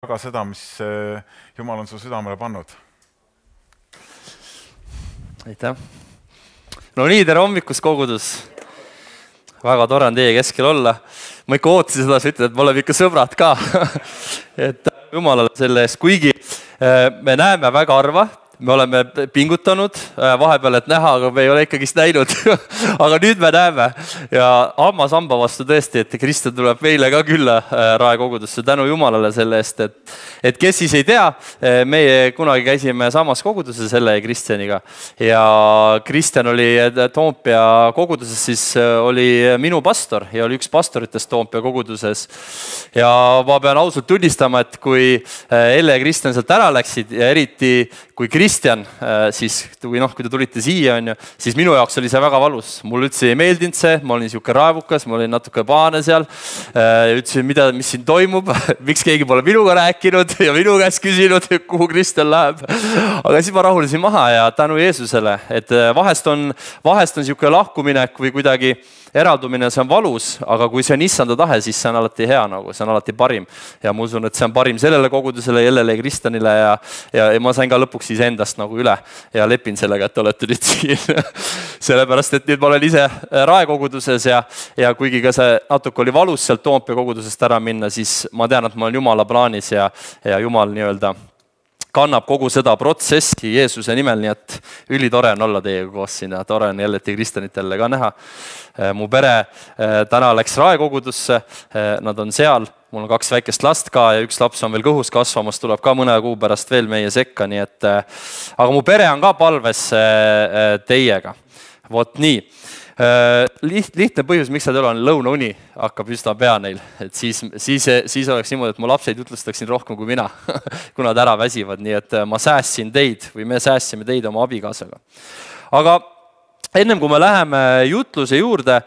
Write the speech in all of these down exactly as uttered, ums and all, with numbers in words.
Aga seda, mis Jumal on su südamele pannud. Aitäh. No nii, tere hommikust kogudus. Väga tore on teie keskel olla. Ma ikka ootasin seda, sa ütled, et me oleme ikka sõbrad ka. et Jumalale selle eest, kuigi me näeme väga harva, me oleme pingutanud vahepeal, et näha, aga me ei ole ikkagist näinud. aga nüüd me näeme ja hamma samba vastu tõesti, et Kristjan tuleb meile ka külla raekogudusse. Tänu Jumalale selle eest, et, et kes siis ei tea, meie kunagi käisime samas koguduses selle Kristjaniga ja Kristjan oli Toompea koguduses, siis oli minu pastor ja oli üks pastoritest Toompea koguduses. Ja ma pean ausalt tunnistama, et kui Elle ja Kristjan sealt ära läksid ja eriti kui Kristjan, siis kui, noh, kui te tulite siia, on ju, siis minu jaoks oli see väga valus. Mul üldse ei meeldinud see, ma olin siuke raevukas, ma olin natuke pahane seal. Ütlesin, mida, mis siin toimub, miks keegi pole minuga rääkinud ja minu käest küsinud, kuhu Kristjan läheb. Aga siis ma rahulisin maha ja tänu Jeesusele, et vahest on, vahest on siuke lahkuminek või kuidagi eraldumine, see on valus, aga kui see on issanda tahe, siis see on alati hea, nagu see on alati parim. Ja ma usun, et see on parim sellele kogudusele, Jellele ja Kristjanile ja, ja, ja ma sain ka lõpuks ise endast nagu üle ja lepin sellega, et olete nüüd siin. Sellepärast, et nüüd ma olen ise raekoguduses ja, ja kuigi ka see natuke oli valus sealt Toompea kogudusest ära minna, siis ma tean, et ma olen Jumala plaanis ja, ja Jumal nii-öelda kannab kogu seda protsessi Jeesuse nimel, nii et ülitore on olla teiega koos siin ja tore on Jellet ja Kristjanit jälle ka näha. Mu pere täna läks raekogudusse, nad on seal, mul on kaks väikest last ka ja üks laps on veel kõhus kasvamas, tuleb ka mõne kuu pärast veel meie sekka, nii et aga mu pere on ka palves teiega. Vot nii. Liht, lihtne põhjus, miks nad ei ole, on lõunauni hakkab üsna pea neil. Et siis, siis, siis oleks niimoodi, et mu lapseid jutlustaksin rohkem kui mina, kui nad ära väsivad. Nii et ma säässin teid või me säässime teid oma abikaasaga. Aga ennem kui me läheme jutluse juurde,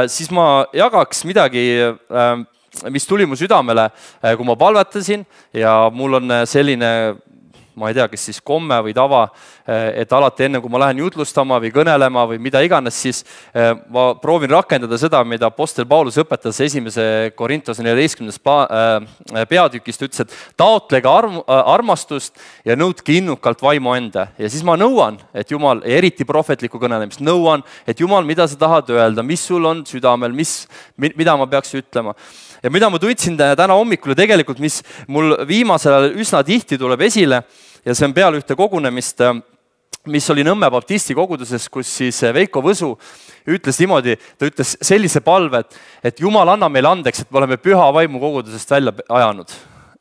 siis ma jagaks midagi, mis tuli mu südamele, kui ma palvetasin ja mul on selline, ma ei tea, kes siis komme või tava, et alati enne, kui ma lähen jutlustama või kõnelema või mida iganes, siis ma proovin rakendada seda, mida apostel Paulus õpetas esimese Korintuse neljateistkümnendas peatükist, ütles, et taotlege arm, armastust ja nõudke innukalt vaimu enda. Ja siis ma nõuan, et Jumal, eriti prohvetlikku kõnelemist, nõuan, et Jumal, mida sa tahad öelda, mis sul on südamel, mis, mida ma peaks ütlema. Ja mida ma tundsin täna hommikul tegelikult, mis mul viimasel üsna tihti tuleb esile, ja see on peale ühte kogunemist, mis oli Nõmme baptisti koguduses, kus siis Veiko Võsu ütles niimoodi, ta ütles sellise palve, et, et Jumal anna meile andeks, et me oleme püha vaimu kogudusest välja ajanud.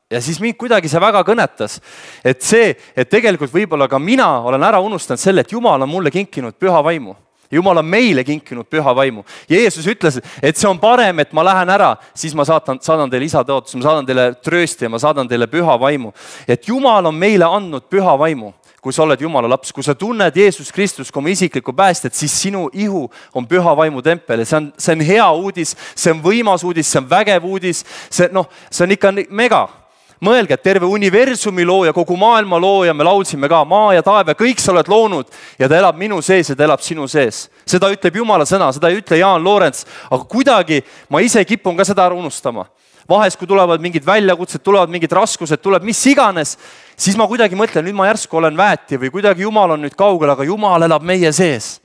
Ja siis mind kuidagi see väga kõnetas, et see, et tegelikult võib-olla ka mina olen ära unustanud selle, et Jumal on mulle kinkinud püha vaimu. Jumal on meile kinkinud püha vaimu. Jeesus ütles, et see on parem, et ma lähen ära, siis ma saadan, saadan teile isa tõotus, ma saadan teile tröösti ja ma saadan teile püha vaimu. Et Jumal on meile andnud püha vaimu, kui sa oled Jumala laps. Kui sa tunned Jeesus Kristus kui isiklikku päästet, siis sinu ihu on püha vaimu tempel. See on, see on hea uudis, see on võimas uudis, see on vägev uudis, see, no, see on ikka mega. Mõelge, et terve universumi looja, kogu maailma looja, me laulsime ka maa ja taeve, kõik sa oled loonud ja ta elab minu sees ja ta elab sinu sees. Seda ütleb Jumala sõna, seda ei ütle Jaan Loorents, aga kuidagi ma ise kipun ka seda ära unustama. Vahest, kui tulevad mingid väljakutsed, tulevad mingid raskused, tuleb mis iganes, siis ma kuidagi mõtlen, nüüd ma järsku olen väeti või kuidagi Jumal on nüüd kaugel, aga Jumal elab meie sees.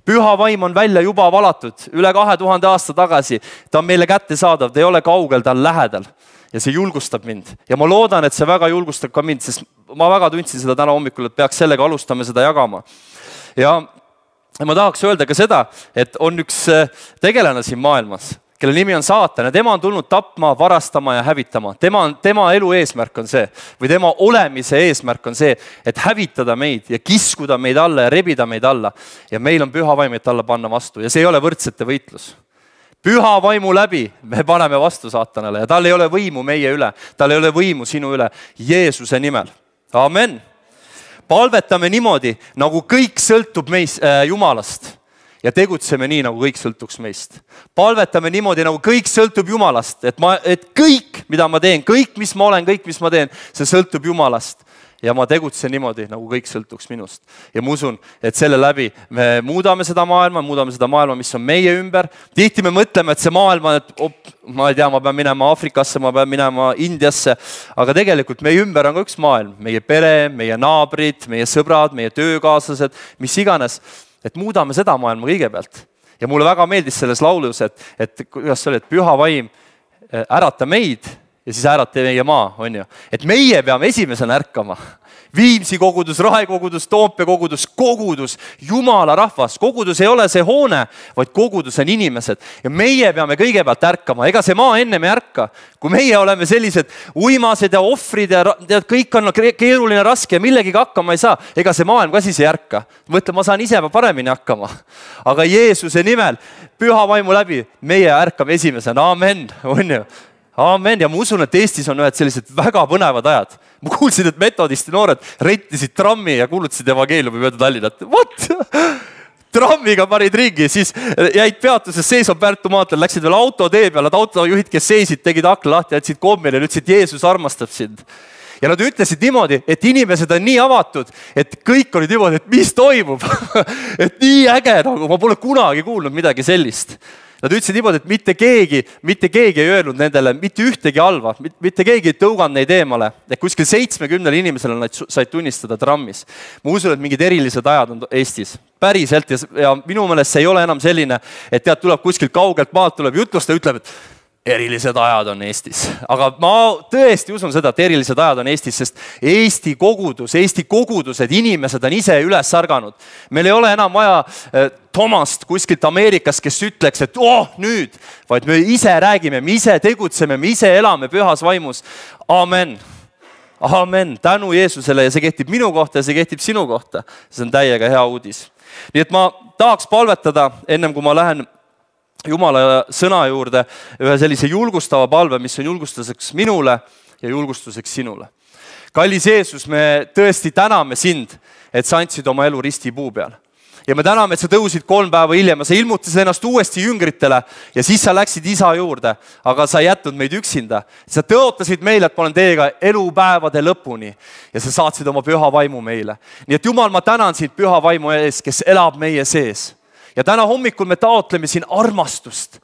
Püha vaim on välja juba valatud üle kahe tuhande aasta tagasi. Ta on meile kätte saadav, ta ei ole kaugel, ta on lähedal. Ja see julgustab mind. Ja ma loodan, et see väga julgustab ka mind, sest ma väga tundsin seda täna hommikul, et peaks sellega alustama seda jagama. Ja ma tahaks öelda ka seda, et on üks tegelane siin maailmas, kelle nimi on saatan ja tema on tulnud tapma, varastama ja hävitama. Tema, on, tema elu eesmärk on see, või tema olemise eesmärk on see, et hävitada meid ja kiskuda meid alla ja rebida meid alla. Ja meil on püha vaim, et alla panna vastu ja see ei ole võrdsete võitlus. Püha vaimu läbi me paneme vastu saatanale ja tal ei ole võimu meie üle, tal ei ole võimu sinu üle Jeesuse nimel. Amen. Palvetame niimoodi, nagu kõik sõltub meist, äh, Jumalast ja tegutseme nii, nagu kõik sõltuks meist. Palvetame niimoodi, nagu kõik sõltub Jumalast, et, ma, et kõik, mida ma teen, kõik, mis ma olen, kõik, mis ma teen, see sõltub Jumalast. ja ma tegutsen niimoodi, nagu kõik sõltuks minust. Ja ma usun, et selle läbi me muudame seda maailma, muudame seda maailma, mis on meie ümber. Tihti me mõtleme, et see maailma, et op, ma ei tea, ma pean minema Aafrikasse, ma pean minema Indiasse, aga tegelikult meie ümber on ka üks maailm. Meie pere, meie naabrid, meie sõbrad, meie töökaaslased, mis iganes, et muudame seda maailma kõigepealt. Ja mulle väga meeldis selles laulus, et, et kuidas see oli, et püha vaim ärata meid, ja siis äärati meie maa, on ju. Et meie peame esimesena ärkama. Viimsi kogudus, Rae kogudus, Toompea kogudus, kogudus, Jumala rahvas. Kogudus ei ole see hoone, vaid kogudus on inimesed. Ja meie peame kõigepealt ärkama. Ega see maa enne me ärka. Kui meie oleme sellised uimased ja ohvrid ja tead, kõik on keeruline, raske ja millegiga hakkama ei saa, ega see maailm ka siis ei ärka. Mõtle, ma saan ise paremini hakkama. Aga Jeesuse nimel, püha vaimu läbi, meie ärkame esimesena. Amen, on ju. Amen. Ja ma usun, et Eestis on ühed sellised väga põnevad ajad. Ma kuulsin, et metodisti noored rentisid trammi ja kuulutasid evangeeliumi mööda Tallinnat. What? Trammiga panid ringi, siis jäid peatuses seisma Pärtu maantel, läksid veel autotee peale, et autojuhid, kes seisid, tegid akna lahti, jätsid kommile ja ütlesid, Jeesus armastab sind. Ja nad ütlesid niimoodi, et inimesed on nii avatud, et kõik olid niimoodi, et mis toimub. Et nii äge, nagu ma pole kunagi kuulnud midagi sellist. Nad ütlesid niimoodi, et mitte keegi, mitte keegi ei öelnud nendele, mitte ühtegi halva, mitte keegi ei tõuganud neid eemale. Et kuskil seitsmekümnele inimesele nad said tunnistada trammis. Ma usun, et mingid erilised ajad on Eestis. Päriselt ja minu meelest see ei ole enam selline, et tead, tuleb kuskilt kaugelt maalt, tuleb jutlusta ja ütleb, et erilised ajad on Eestis. Aga ma tõesti usun seda, et erilised ajad on Eestis, sest Eesti kogudus, Eesti kogudused, inimesed on ise üles sarganud. Meil ei ole enam vaja Tomast kuskilt Ameerikast, kes ütleks, et oh, nüüd, vaid me ise räägime, me ise tegutseme, me ise elame pühas vaimus. Amen. Amen. Tänu Jeesusele ja see kehtib minu kohta ja see kehtib sinu kohta. See on täiega hea uudis. Nii et ma tahaks palvetada, ennem kui ma lähen Jumala sõna juurde, ühe sellise julgustava palve, mis on julgustuseks minule ja julgustuseks sinule. Kallis Jeesus, me tõesti täname sind, et sa andsid oma elu ristipuu peal. Ja me täname, et sa tõusid kolm päeva hiljem ja sa ilmutasid ennast uuesti jüngritele ja siis sa läksid isa juurde, aga sa ei jätnud meid üksinda. Sa tõotasid meile, et ma olen teiega elupäevade lõpuni ja sa saatsid oma püha vaimu meile. Nii et Jumal, ma tänan sind püha vaimu ees, kes elab meie sees. Ja täna hommikul me taotleme siin armastust.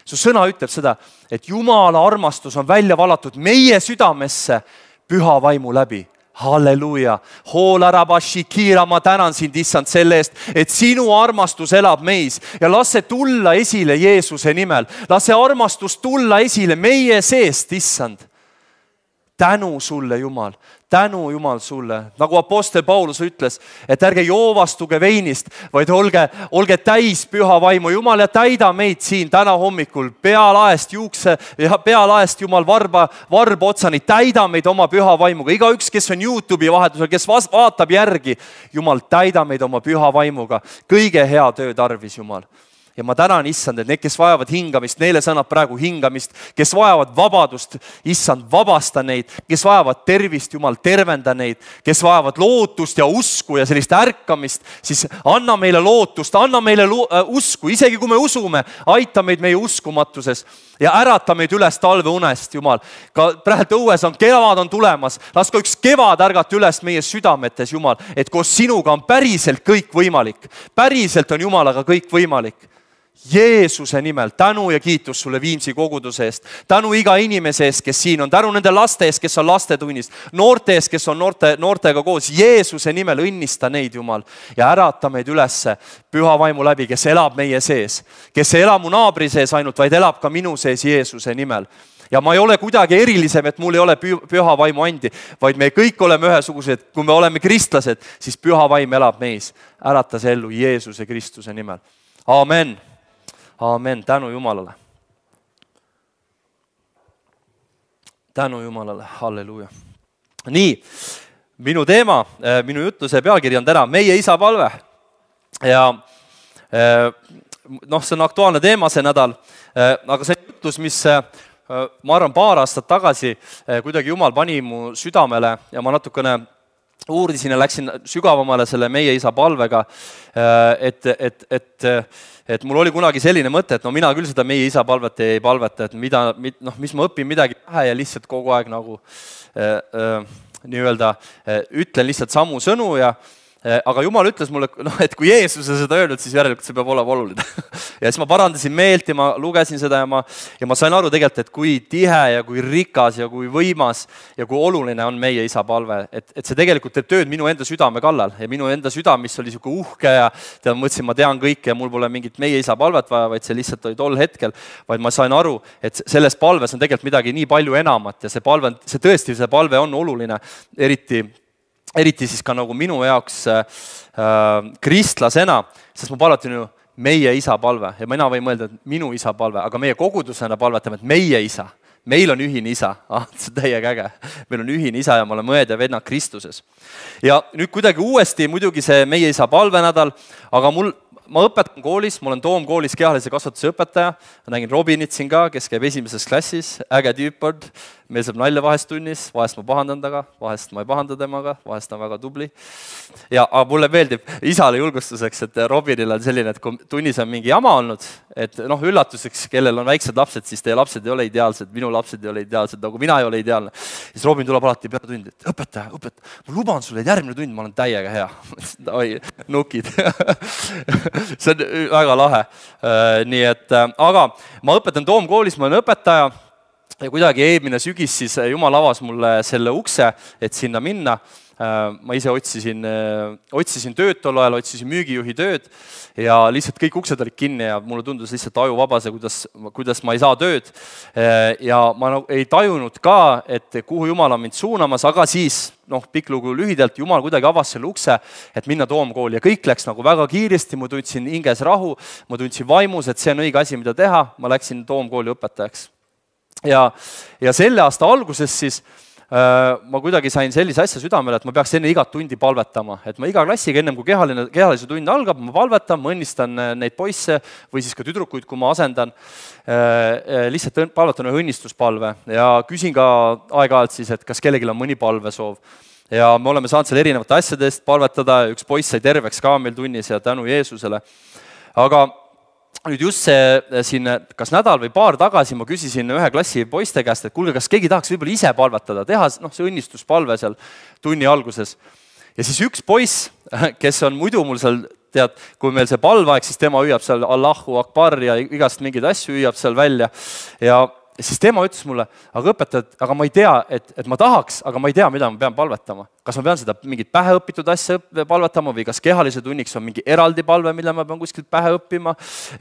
Su sõna ütleb seda, et Jumala armastus on välja valatud meie südamesse püha vaimu läbi. Halleluja. Hoolarabashikira, ma tänan sind, issand, selle eest, et sinu armastus elab meis ja las see tulla esile Jeesuse nimel. Las see armastus tulla esile meie seest, issand. Tänu sulle, Jumal. Tänu, Jumal, sulle. Nagu apostel Paulus ütles, et ärge joovastuge veinist, vaid olge, olge täis püha vaimu. Jumal, ja täida meid siin täna hommikul pealaest juukse ja pealaest, Jumal, varba, varba otsani. Täida meid oma püha vaimuga. Iga üks, kes on YouTube'i vahetusel, kes vaatab järgi, Jumal, täida meid oma püha vaimuga. Kõige hea töö tarvis, Jumal. Ja ma tänan, issand, et need, kes vajavad hingamist, neile sõnab praegu hingamist, kes vajavad vabadust, issand, vabasta neid, kes vajavad tervist, Jumal, tervenda neid, kes vajavad lootust ja usku ja sellist ärkamist, siis anna meile lootust, anna meile lo äh, usku, isegi kui me usume, aita meid meie uskumatuses ja ärata meid üles talveunest, Jumal. Ka praegu õues on, kevad on tulemas, las ka üks kevad ärgata üles meie südametes, Jumal, et koos sinuga on päriselt kõik võimalik. Päriselt on Jumalaga kõik võimalik. Jeesuse nimel, tänu ja kiitus sulle Viimsi koguduse eest, tänu iga inimese eest, kes siin on, tänu nende laste eest, kes on lastetunnis, noorte eest, kes on noorte, noortega koos, Jeesuse nimel õnnista neid, Jumal, ja ärata meid ülesse püha vaimu läbi, kes elab meie sees, kes ei ela mu naabri sees ainult, vaid elab ka minu sees Jeesuse nimel. Ja ma ei ole kuidagi erilisem, et mul ei ole püha vaimu andi, vaid me kõik oleme ühesugused, kui me oleme kristlased, siis püha vaim elab meis. Ärata see ellu Jeesuse Kristuse nimel. Amen. Amen, tänu Jumalale. Tänu Jumalale, halleluja. Nii, minu teema, minu jutluse pealkiri on täna meie isa palve. Ja noh, see on aktuaalne teema see nädal, aga see jutlus, mis ma arvan paar aastat tagasi kuidagi Jumal pani mu südamele ja ma natukene uurisin ja läksin sügavamale selle meie isa palvega, et, et, et, et mul oli kunagi selline mõte, et no mina küll seda meie isa palvet ei palveta, et mida, noh, mis ma õpin midagi pähe ja lihtsalt kogu aeg nagu äh, äh, nii-öelda ütlen lihtsalt samu sõnu ja aga Jumal ütles mulle, noh, et kui Jeesus on seda öelnud, siis järelikult see peab olema oluline. Ja siis ma parandasin meelt ja ma lugesin seda ja ma, ja ma sain aru tegelikult, et kui tihe ja kui rikas ja kui võimas ja kui oluline on meie isa palve. Et, et see tegelikult teeb tööd minu enda südame kallal ja minu enda süda, mis oli siuke uhke ja tead, mõtlesin, ma tean kõike ja mul pole mingit meie isa palvet vaja, vaid see lihtsalt oli tol hetkel, vaid ma sain aru, et selles palves on tegelikult midagi nii palju enamat ja see palve, see tõesti, see palve on oluline, eriti eriti siis ka nagu minu jaoks äh, kristlasena, sest ma palvetan ju meie isa palve ja mina võin mõelda, et minu isa palve, aga meie kogudusena palvetame, et meie isa, meil on ühine isa, ah, see on täiega äge, meil on ühine isa ja me oleme õed ja vennad Kristuses. Ja nüüd kuidagi uuesti muidugi see meie isa palvenädal, aga mul ma õpetan koolis, ma olen Toomkoolis kehalise kasvatuse õpetaja, ma nägin Robinit siin ka, kes käib esimeses klassis, äge tüüpord, meil saab nalja vahest tunnis, vahest ma pahandan taga, vahest ma ei pahanda temaga, vahest on väga tubli. Ja aga mulle meeldib isale julgustuseks, et Robinil on selline, et kui tunnis on mingi jama olnud, et noh, üllatuseks, kellel on väiksed lapsed, siis teie lapsed ei ole ideaalsed, minu lapsed ei ole ideaalsed, nagu mina ei ole ideaalne. Siis Robin tuleb alati peale tundi, et õpetaja, õpetaja, ma luban sulle, et järgmine tund ma olen täiega hea. Oi, nukid. See on väga lahe. Nii et, aga ma õpetan Toomkoolis, ma olen õpetaja ja kuidagi eelmine sügis siis Jumal avas mulle selle ukse, et sinna minna. Ma ise otsisin, otsisin tööd tol ajal, otsisin müügijuhi tööd ja lihtsalt kõik uksed olid kinni ja mulle tundus lihtsalt aju vabase, kuidas, kuidas ma ei saa tööd. Ja ma ei tajunud ka, et kuhu Jumal on mind suunamas, aga siis, noh, pikk lugu lühidalt, Jumal kuidagi avas selle ukse, et minna Toomkooli ja kõik läks nagu väga kiiresti, ma tundsin hinges rahu, ma tundsin vaimus, et see on õige asi, mida teha, ma läksin Toomkooli õpetajaks. Ja, ja selle aasta alguses siis ma kuidagi sain sellise asja südamele, et ma peaks enne igat tundi palvetama. Et ma iga klassiga ennem, kui kehaline, kehalise tund algab, ma palvetan, ma õnnistan neid poisse või siis ka tüdrukuid, kui ma asendan. Lihtsalt palvetan ühe õnnistuspalve ja küsin ka aeg-ajalt siis, et kas kellelgi on mõni palvesoov. Ja me oleme saanud seal erinevate asjadest palvetada, üks poiss sai terveks ka meil tunnis ja tänu Jeesusele. Aga nüüd just see siin, kas nädal või paar tagasi ma küsisin ühe klassi poiste käest, et kuulge, kas keegi tahaks võib-olla ise palvetada, teha noh, see õnnistuspalve seal tunni alguses. Ja siis üks poiss, kes on muidu mul seal, tead, kui meil see palvaeg, siis tema hüüab seal Allahu Akbar ja igast mingeid asju hüüab seal välja. Ja siis tema ütles mulle, aga õpetajad, aga ma ei tea, et, et ma tahaks, aga ma ei tea, mida ma pean palvetama. Kas ma pean seda mingit päheõpitud asja palvetama või kas kehalise tunniks on mingi eraldi palve, mille ma pean kuskilt pähe õppima,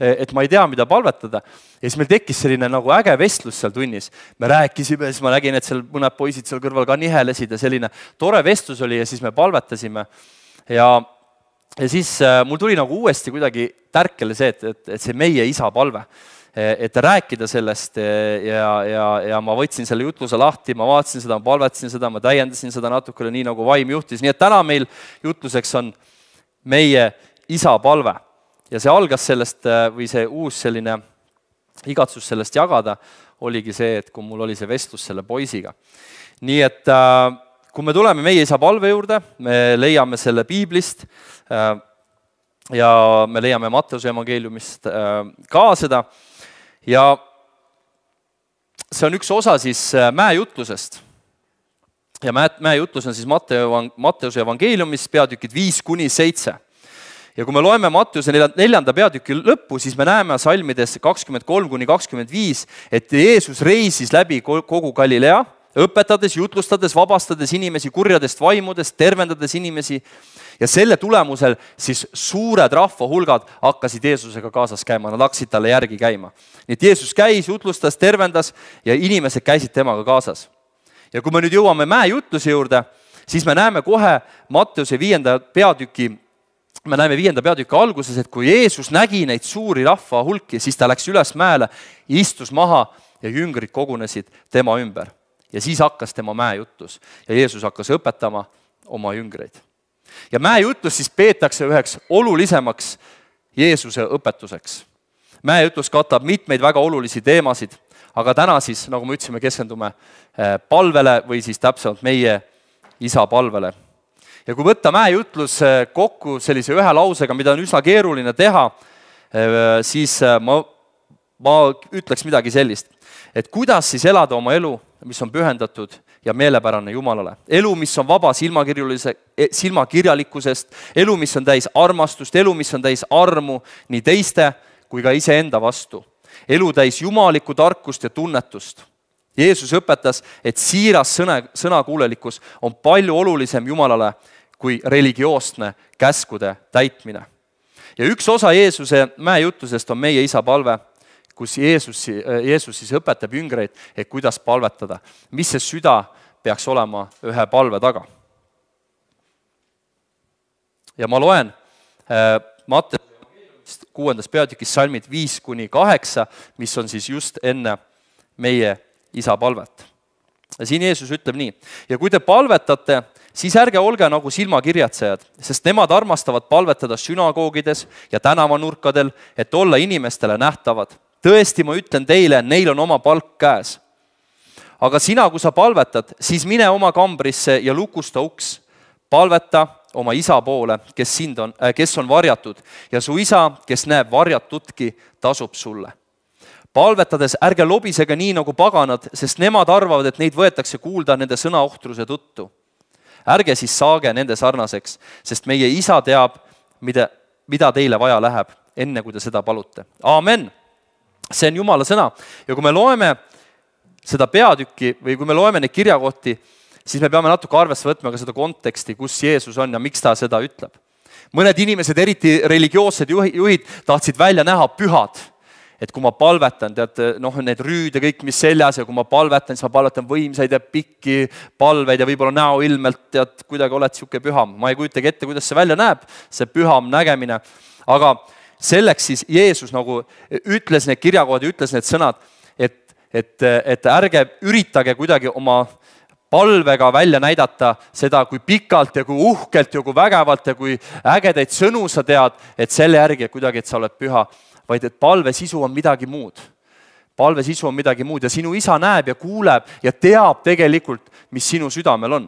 et ma ei tea, mida palvetada. Ja siis meil tekkis selline nagu äge vestlus seal tunnis. Me rääkisime, siis ma nägin, et seal mõned poisid seal kõrval ka nihelesid ja selline tore vestlus oli ja siis me palvetasime. Ja, ja siis mul tuli nagu uuesti kuidagi tärkele see, et, et, et see meie isa palve. Et rääkida sellest ja, ja, ja ma võtsin selle jutluse lahti, ma vaatasin seda, ma palvetasin seda, ma täiendasin seda natukene nii nagu vaim juhtis. Nii et täna meil jutluseks on meie isa palve. Ja see algas sellest või see uus selline igatsus sellest jagada oligi see, et kui mul oli see vestlus selle poisiga. Nii et kui me tuleme meie isa palve juurde, me leiame selle piiblist ja me leiame Matteuse evangeeliumist ka seda. Ja see on üks osa siis mäejutlusest. Ja mäejutlus on siis Matteuse evangeeliumis peatükid viis kuni seitse. Ja kui me loeme Matteuse neljanda peatüki lõppu, siis me näeme salmides kakskümmend kolm kuni kakskümmend viis, et Jeesus reisis läbi kogu Galilea, õpetades, jutlustades, vabastades inimesi kurjadest vaimudest, tervendades inimesi. Ja selle tulemusel siis suured rahvahulgad hakkasid Jeesusega kaasas käima, nad hakkasid talle järgi käima. Nii et Jeesus käis, jutlustas, tervendas ja inimesed käisid temaga kaasas. Ja kui me nüüd jõuame mäejutluse juurde, siis me näeme kohe Matteuse viienda peatüki, me näeme viienda peatüki alguses, et kui Jeesus nägi neid suuri rahvahulki, siis ta läks üles mäele, istus maha ja jüngrid kogunesid tema ümber. Ja siis hakkas tema mäejutlus ja Jeesus hakkas õpetama oma jüngreid. Ja mäejutlus siis peetakse üheks olulisemaks Jeesuse õpetuseks. Mäejutlus katab mitmeid väga olulisi teemasid, aga täna siis, nagu me ütlesime, keskendume palvele või siis täpsemalt meie isa palvele. Ja kui võtta mäejutlus kokku sellise ühe lausega, mida on üsna keeruline teha, siis ma, ma ütleks midagi sellist, et kuidas siis elada oma elu, mis on pühendatud ja meelepärane Jumalale. Elu, mis on vaba silmakirjalikkusest, elu, mis on täis armastust, elu, mis on täis armu nii teiste kui ka iseenda vastu. Elu täis jumalikku tarkust ja tunnetust. Jeesus õpetas, et siiras sõna, sõnakuulelikkus on palju olulisem Jumalale kui religioosne käskude täitmine. Ja üks osa Jeesuse mäejutusest on meie isa palve, kus Jeesus, Jeesus siis õpetab jüngreid, et kuidas palvetada. Mis see süda peaks olema ühe palve taga. Ja ma loen äh, Matteuse kuuendas peatükis salmid viis kuni kaheksa, mis on siis just enne meie isa palvet. Ja siin Jeesus ütleb nii, ja kui te palvetate, siis ärge olge nagu silmakirjatsejad, sest nemad armastavad palvetada sünagoogides ja tänavanurkadel, et olla inimestele nähtavad. Tõesti, ma ütlen teile, neil on oma palk käes. Aga sina, kui sa palvetad, siis mine oma kambrisse ja lukusta uks. Palveta oma isa poole, kes, sind on, äh, kes on varjatud, ja su isa, kes näeb varjatutki, tasub sulle. Palvetades ärge lobisega nii nagu paganad, sest nemad arvavad, et neid võetakse kuulda nende sõnaohtruse tõttu. Ärge siis saage nende sarnaseks, sest meie isa teab, mida, mida teile vaja läheb, enne kui te seda palute. Aamen! See on Jumala sõna. Ja kui me loeme seda peatükki või kui me loeme neid kirjakohti, siis me peame natuke arvesse võtma ka seda konteksti, kus Jeesus on ja miks ta seda ütleb. Mõned inimesed, eriti religioossed juhid, tahtsid välja näha pühad. Et kui ma palvetan, tead, noh, need rüüd ja kõik, mis seljas, ja kui ma palvetan, siis ma palvetan võimsaid ja pikki palveid ja võib-olla näo ilmelt, tead, kuidagi oled siuke püham. Ma ei kujutagi ette, kuidas see välja näeb, see püham nägemine. Aga selleks siis Jeesus nagu ütles need kirjakohad ja ütles need sõnad, et, et, et ärge üritage kuidagi oma palvega välja näidata seda, kui pikalt ja kui uhkelt ja kui vägevalt ja kui ägedaid sõnu sa tead, et selle järgi kuidagi, et sa oled püha, vaid et palve sisu on midagi muud. Palve sisu on midagi muud ja sinu isa näeb ja kuuleb ja teab tegelikult, mis sinu südamel on.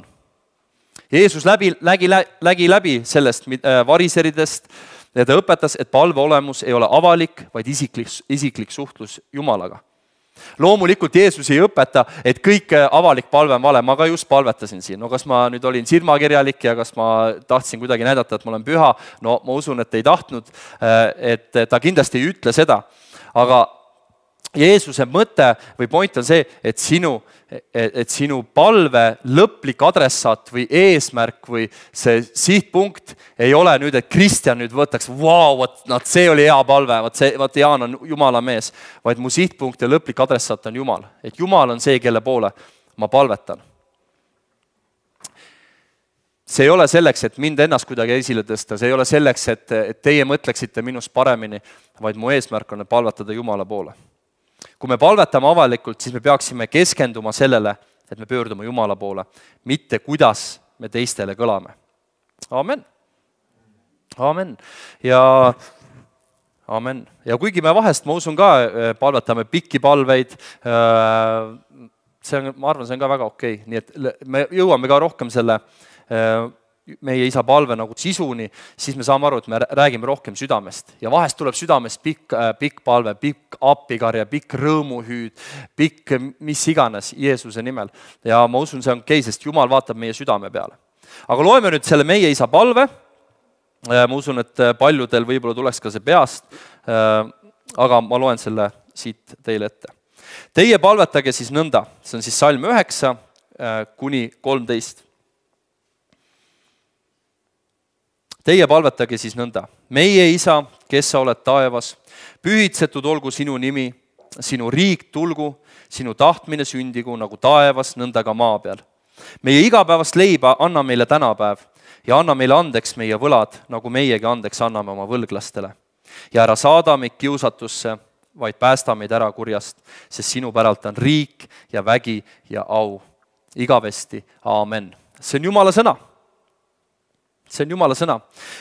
Jeesus läbi, lägi, lägi läbi sellest variseridest ja ta õpetas, et palve olemus ei ole avalik, vaid isiklik, isiklik suhtlus Jumalaga. Loomulikult Jeesus ei õpeta, et kõik avalik palve on vale. Ma ka just palvetasin siin. No kas ma nüüd olin silmakirjalik ja kas ma tahtsin kuidagi näidata, et ma olen püha? No ma usun, et ei tahtnud, et ta kindlasti ei ütle seda. Aga Jeesuse mõte või point on see, et sinu, et sinu palve lõplik adressaat või eesmärk või see sihtpunkt ei ole nüüd, et Kristjan nüüd võtaks, vau, wow, see oli hea palve, vaat see, vaat Jaan on Jumala mees, vaid mu sihtpunkt ja lõplik adressaat on Jumal. Et Jumal on see, kelle poole ma palvetan. See ei ole selleks, et mind ennast kuidagi esile tõsta, see ei ole selleks, et, et teie mõtleksite minust paremini, vaid mu eesmärk on palvetada Jumala poole. Kui me palvetame avalikult, siis me peaksime keskenduma sellele, et me pöördume Jumala poole, mitte kuidas me teistele kõlame. Amen. Amen. Ja, amen. Ja kuigi me vahest, ma usun ka, palvetame pikki palveid, see on, ma arvan, see on ka väga okei. Nii et me jõuame ka rohkem selle meie isa palve nagu sisuni, siis me saame aru, et me räägime rohkem südamest. Ja vahest tuleb südamest pikk, pikk palve, pikk appikarja, pikk rõõmuhüüd, pikk mis iganes Jeesuse nimel. Ja ma usun, see on okei, sest Jumal vaatab meie südame peale. Aga loeme nüüd selle meie isa palve. Ma usun, et paljudel võib-olla tuleks ka see peast, aga ma loen selle siit teile ette. Teie palvetage siis nõnda, see on siis salm üheksa kuni kolmteist. Teie palvetage siis nõnda. Meie isa, kes sa oled taevas, pühitsetud olgu sinu nimi, sinu riik tulgu, sinu tahtmine sündigu nagu taevas, nõnda ka maa peal. Meie igapäevast leiba anna meile tänapäev ja anna meile andeks meie võlad, nagu meiegi andeks anname oma võlglastele. Ja ära saada meid kiusatusse, vaid päästa meid ära kurjast, sest sinu päralt on riik ja vägi ja au. Igavesti. Aamen. See on Jumala sõna. See on Jumala sõna.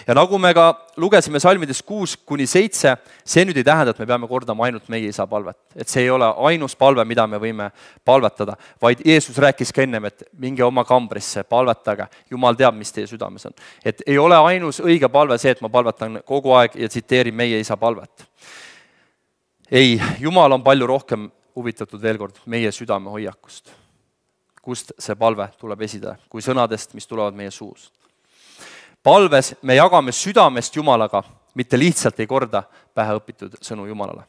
Ja nagu me ka lugesime salmides kuus kuni seitse, see nüüd ei tähenda, et me peame kordama ainult meie isa palvet. Et see ei ole ainus palve, mida me võime palvetada, vaid Jeesus rääkis ka ennem, et minge oma kambrisse, palvetage. Jumal teab, mis teie südames on. Et ei ole ainus õige palve see, et ma palvetan kogu aeg ja tsiteerin meie isa palvet. Ei, Jumal on palju rohkem huvitatud veel kord meie südame hoiakust. kust see palve tuleb esida, kui sõnadest, mis tulevad meie suus. Palves me jagame südamest Jumalaga, mitte lihtsalt ei korda päheõpitud sõnu Jumalale.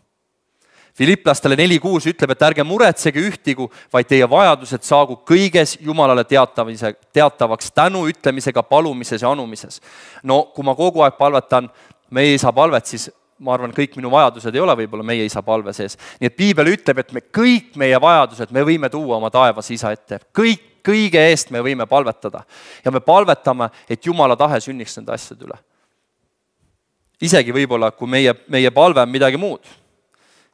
Filiplastele neli kuus ütleb, et ärge muretsege ühtigu, vaid teie vajadused saagu kõiges Jumalale teatavaks tänu ütlemisega, palumises ja anumises. No kui ma kogu aeg palvetan meie isa palvet, siis ma arvan, kõik minu vajadused ei ole võib-olla meie isa palve sees. Nii et Piibel ütleb, et me kõik meie vajadused me võime tuua oma taevas isa ette. Kõik, kõige eest me võime palvetada. Ja me palvetame, et Jumala tahe sünniks nende asjade üle. Isegi võib-olla, kui meie, meie palve on midagi muud.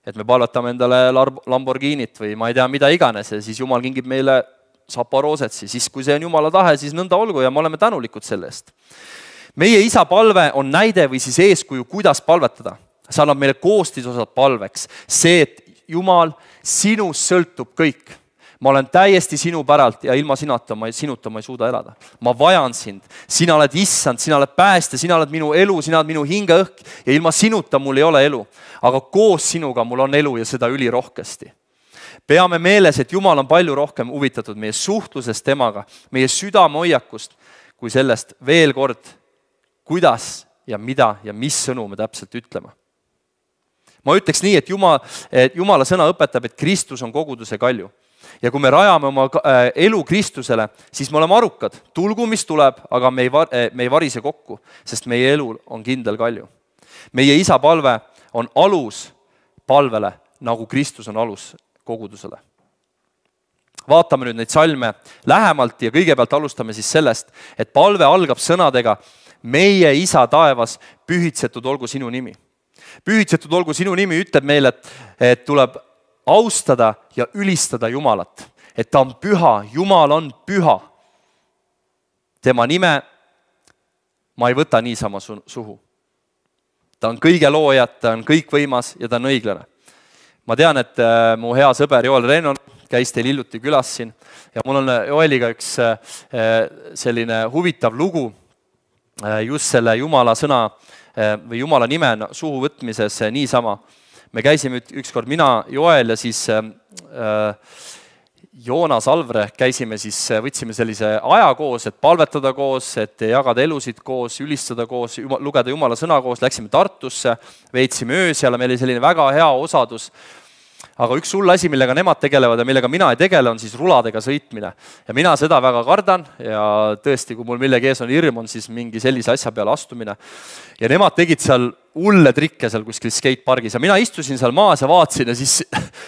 Et me palvetame endale Lamborghinit või ma ei tea, mida iganes, ja siis Jumal kingib meile Saporoosetsi. Siis kui see on Jumala tahe, siis nõnda olgu ja me oleme tänulikud selle eest. Meie isa palve on näide või siis eeskuju, kuidas palvetada. See annab meile koostisosad palveks. See, et Jumal, sinust sõltub kõik. Ma olen täiesti sinu päralt ja ilma sinata ma, sinuta ma ei suuda elada. Ma vajan sind. Sina oled issand, sina oled päästja, sina oled minu elu, sina oled minu hingeõhk ja ilma sinuta mul ei ole elu. Aga koos sinuga mul on elu ja seda ülirohkesti. Peame meeles, et Jumal on palju rohkem huvitatud meie suhtlusest temaga, meie südamehoiakust, kui sellest veel kord, kuidas ja mida ja mis sõnu me täpselt ütlema. Ma ütleks nii, et, Jumal, et Jumala sõna õpetab, et Kristus on koguduse kalju. Ja kui me rajame oma elu Kristusele, siis me oleme arukad. Tulgu, mis tuleb, aga me ei, var, me ei varise kokku, sest meie elu on kindel kalju. Meie isa palve on alus palvele, nagu Kristus on alus kogudusele. Vaatame nüüd neid salme lähemalt ja kõigepealt alustame siis sellest, et palve algab sõnadega meie isa taevas, pühitsetud olgu sinu nimi. Pühitsetud olgu sinu nimi ütleb meile, et, et tuleb austada ja ülistada Jumalat. Et ta on püha, Jumal on püha. Tema nime ma ei võta niisama suhu. Ta on kõige loojat, ta on kõikvõimas ja ta on õiglane. Ma tean, et mu hea sõber Joel Rennon käis teil hiljuti külas siin ja mul on Joeliga üks selline huvitav lugu just selle Jumala sõna või Jumala nime suhu võtmises niisama. Me käisime ükskord mina, Joel ja siis äh, Joonas Alvre käisime siis, võtsime sellise aja koos, et palvetada koos, et jagada elusid koos, ülistada koos, lugeda Jumala sõna koos, läksime Tartusse, veetsime öös ja meil oli selline väga hea osadus. Aga üks hull asi, millega nemad tegelevad ja millega mina ei tegele, on siis ruladega sõitmine. Ja mina seda väga kardan ja tõesti, kui mul millegi ees on hirm, on siis mingi sellise asja peale astumine. Ja nemad tegid seal hulle trikke seal kuskil skatepargis ja mina istusin seal maas ja vaatsin ja siis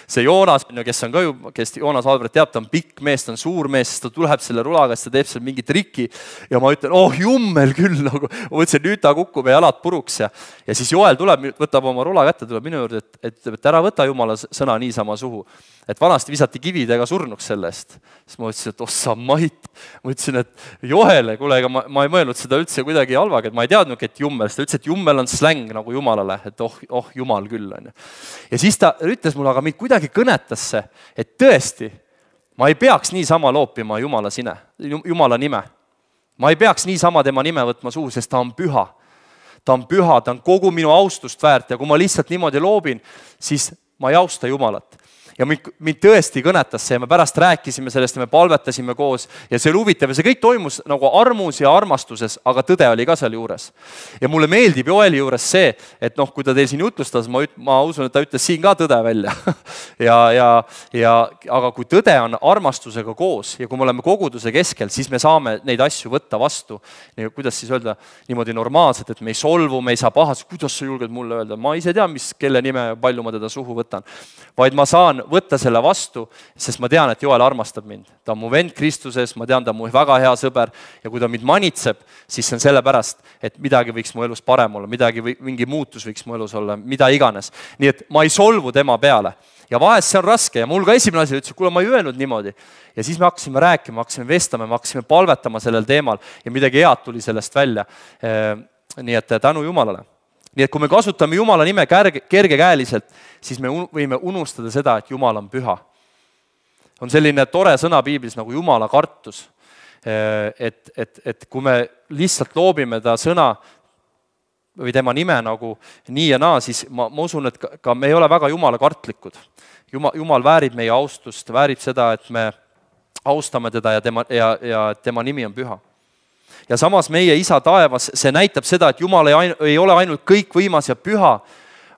see Joonas, kes on ka ju, kes Joonas Albert teab, ta on pikk mees, ta on suur mees, ta tuleb selle rulaga, ta teeb seal mingi triki ja ma ütlen, oh jummel küll, nagu ma mõtlesin, nüüd ta kukub ja jalad puruks ja, ja siis Joel tuleb, võtab oma rula kätte, tuleb minu juurde, et, et, et ära võta Jumala sõna niisama suhu. Et vanasti visati kividega surnuks sellest. Siis ma ütlesin, et ossa mait. Ma ütlesin, et Joele, kuule, ega ma, ma ei mõelnud seda üldse kuidagi halvaga, et ma ei teadnud, et jummel. Ta ütles, et jummel on släng nagu Jumalale, et oh, oh Jumal küll. On. Ja siis ta ütles mulle, aga mind kuidagi kõnetas see, et tõesti, ma ei peaks niisama loopima Jumala sine, Jumala nime. Ma ei peaks niisama tema nime võtma suhu, sest ta on püha. Ta on püha, ta on kogu minu austust väärt ja kui ma lihtsalt niimoodi loobin, siis ma ei austa Jumalat. Ja mind, mind tõesti kõnetas see ja me pärast rääkisime sellest ja me palvetasime koos ja see oli huvitav ja see kõik toimus nagu armus ja armastuses, aga tõde oli ka seal juures. Ja mulle meeldib Joeli juures see, et noh, kui ta teil siin jutlustas, ma, üt, ma usun, et ta ütles siin ka tõde välja. ja, ja, ja, aga kui tõde on armastusega koos ja kui me oleme koguduse keskel, siis me saame neid asju võtta vastu. Kuidas siis öelda niimoodi normaalselt, et me ei solvu, me ei saa pahas, kuidas sa julged mulle öelda, ma ise tean, mis, kelle nime palju ma teda suhu võtan. Vaid ma saan võtta selle vastu, sest ma tean, et Joel armastab mind. Ta on mu vend Kristuses, ma tean, ta on mu väga hea sõber ja kui ta mind manitseb, siis see on sellepärast, et midagi võiks mu elus parem olla, midagi või mingi muutus võiks mu elus olla, mida iganes. Nii et ma ei solvu tema peale. Ja vahest see on raske ja mul ka esimene asi ütles, kuule, ma ei öelnud niimoodi. Ja siis me hakkasime rääkima, hakkasime vestama, me hakkasime palvetama sellel teemal ja midagi head tuli sellest välja. Nii et tänu Jumalale. Nii et kui me kasutame Jumala nime kerge, kergekäeliselt, siis me võime unustada seda, et Jumal on püha. On selline tore sõna Piiblis nagu Jumala kartus. Et, et, et kui me lihtsalt loobime ta sõna või tema nime nagu nii ja naa, siis ma, ma usun, et ka, ka me ei ole väga Jumala kartlikud. Jumal, Jumal väärib meie austust, väärib seda, et me austame teda ja tema, ja, ja tema nimi on püha. Ja samas meie isa taevas, see näitab seda, et Jumal ei, ei ole ainult kõikvõimas ja püha,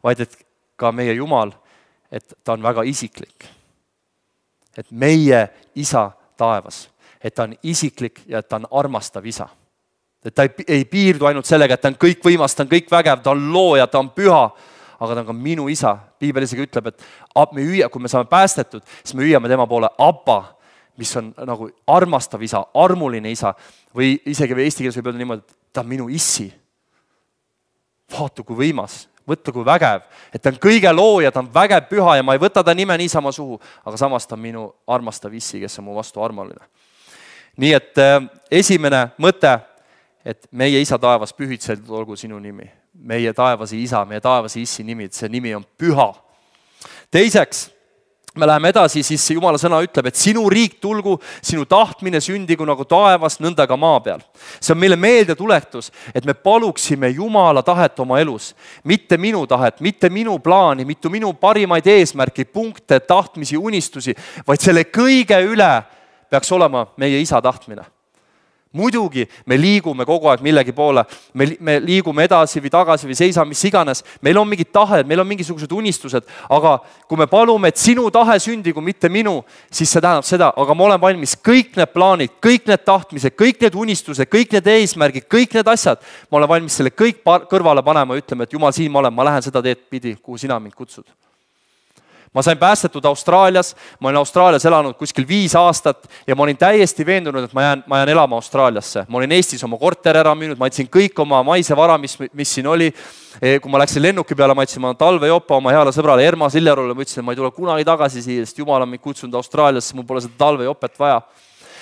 vaid et ka meie Jumal, et ta on väga isiklik. Et meie isa taevas, et ta on isiklik ja et ta on armastav isa. Et ta ei, ei piirdu ainult sellega, et ta on kõikvõimas, ta on kõik vägev, ta on looja, ta on püha, aga ta on ka minu isa. Piibel isegi ütleb, et me hüüa, kui me saame päästetud, siis me hüüame tema poole Abba, mis on nagu armastav isa, armuline isa või isegi või eesti keeles võib öelda niimoodi, et ta on minu issi. Vaata kui võimas, võtta kui vägev, et ta on kõige looja, ta on vägev püha ja ma ei võta ta nime niisama suhu, aga samas ta on minu armastav issi, kes on mu vastu armuline. Nii et äh, esimene mõte, et meie isa taevas pühitsetud olgu sinu nimi. Meie taevasi isa, meie taevasi issi nimi, see nimi on püha. Teiseks, me läheme edasi, siis Jumala sõna ütleb, et sinu riik tulgu, sinu tahtmine sündigu nagu taevas, nõnda ka maa peal. See on meile meelde tuletus, et me paluksime Jumala tahet oma elus. Mitte minu tahet, mitte minu plaani, mitte minu parimaid eesmärki, punkte, tahtmisi, unistusi, vaid selle kõige üle peaks olema meie isa tahtmine. Muidugi me liigume kogu aeg millegi poole, me, me liigume edasi või tagasi või seisame, mis iganes. Meil on mingid tahed, meil on mingisugused unistused, aga kui me palume, et sinu tahe sündigu, mitte minu, siis see tähendab seda, aga ma olen valmis kõik need plaanid, kõik need tahtmised, kõik need unistused, kõik need eesmärgid, kõik need asjad, ma olen valmis selle kõik kõrvale panema ja ütlema, et Jumal, siin ma olen, ma lähen seda teed pidi, kuhu sina mind kutsud. Ma sain päästetud Austraalias, ma olin Austraalias elanud kuskil viis aastat ja ma olin täiesti veendunud, et ma jään, ma jään elama Austraaliasse. Ma olin Eestis oma korter ära müünud, ma jätsin kõik oma maise vara, mis, mis siin oli. Kui ma läksin lennuki peale, ma jätsin ma talvejopa oma heale sõbrale Erma Siljarule, ma ütlesin, et ma ei tule kunagi tagasi siia, sest Jumal on mind kutsunud Austraaliasse, mul pole seda talvejopet vaja.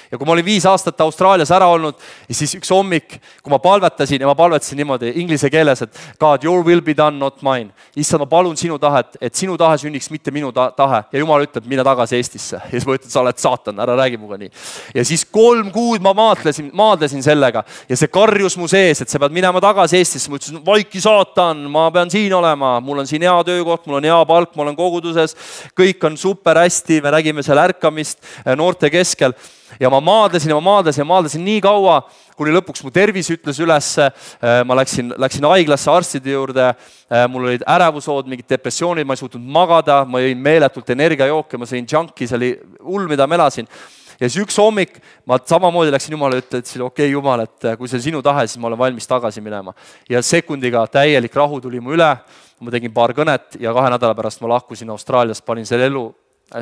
Ja kui ma olin viis aastat Austraalias ära olnud, siis üks hommik, kui ma palvetasin ja ma palvetasin niimoodi inglise keeles, et God, your will be done, not mine. Issand, ma palun sinu tahet, et sinu tahe sünniks, mitte minu ta tahe. Ja Jumal ütleb, mine tagasi Eestisse. Ja siis ma ütlen, sa oled saatan, ära räägi muga nii. Ja siis kolm kuud ma maadlesin, maadlesin sellega ja see karjus mu sees, et sa pead minema tagasi Eestisse. Ma ütlesin, vaiki saatan, ma pean siin olema, mul on siin hea töökoht, mul on hea palk, ma olen koguduses, kõik on super hästi, me nägime seal ärkamist noorte keskel. Ja ma maadlesin ja ma maadlesin ja maadlesin nii kaua, kuni lõpuks mu tervis ütles üles, ma läksin, läksin haiglasse arstide juurde, mul olid ärevushood, mingid depressioonid, ma ei suutnud magada, ma jõin meeletult energiajooke, ma sõin junki, see oli hull, mida ma elasin. Ja siis üks hommik ma samamoodi läksin Jumala ja ütlesin, okei okay, Jumal, et kui see on sinu tahe, siis ma olen valmis tagasi minema. Ja sekundiga täielik rahu tuli mu üle, ma tegin paar kõnet ja kahe nädala pärast ma lahkusin Austraaliast, panin selle elu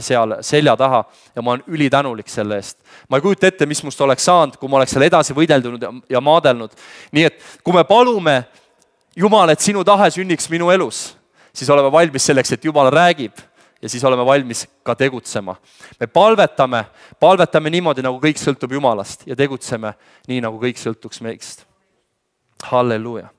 seal selja taha ja ma olen ülitänulik selle eest. Ma ei kujuta ette, mis must oleks saanud, kui ma oleks seal edasi võideldunud ja maadelnud. Nii et kui me palume Jumal, et sinu tahe sünniks minu elus, siis oleme valmis selleks, et Jumal räägib ja siis oleme valmis ka tegutsema. Me palvetame, palvetame niimoodi, nagu kõik sõltub Jumalast ja tegutseme nii, nagu kõik sõltuks meist. Halleluuja.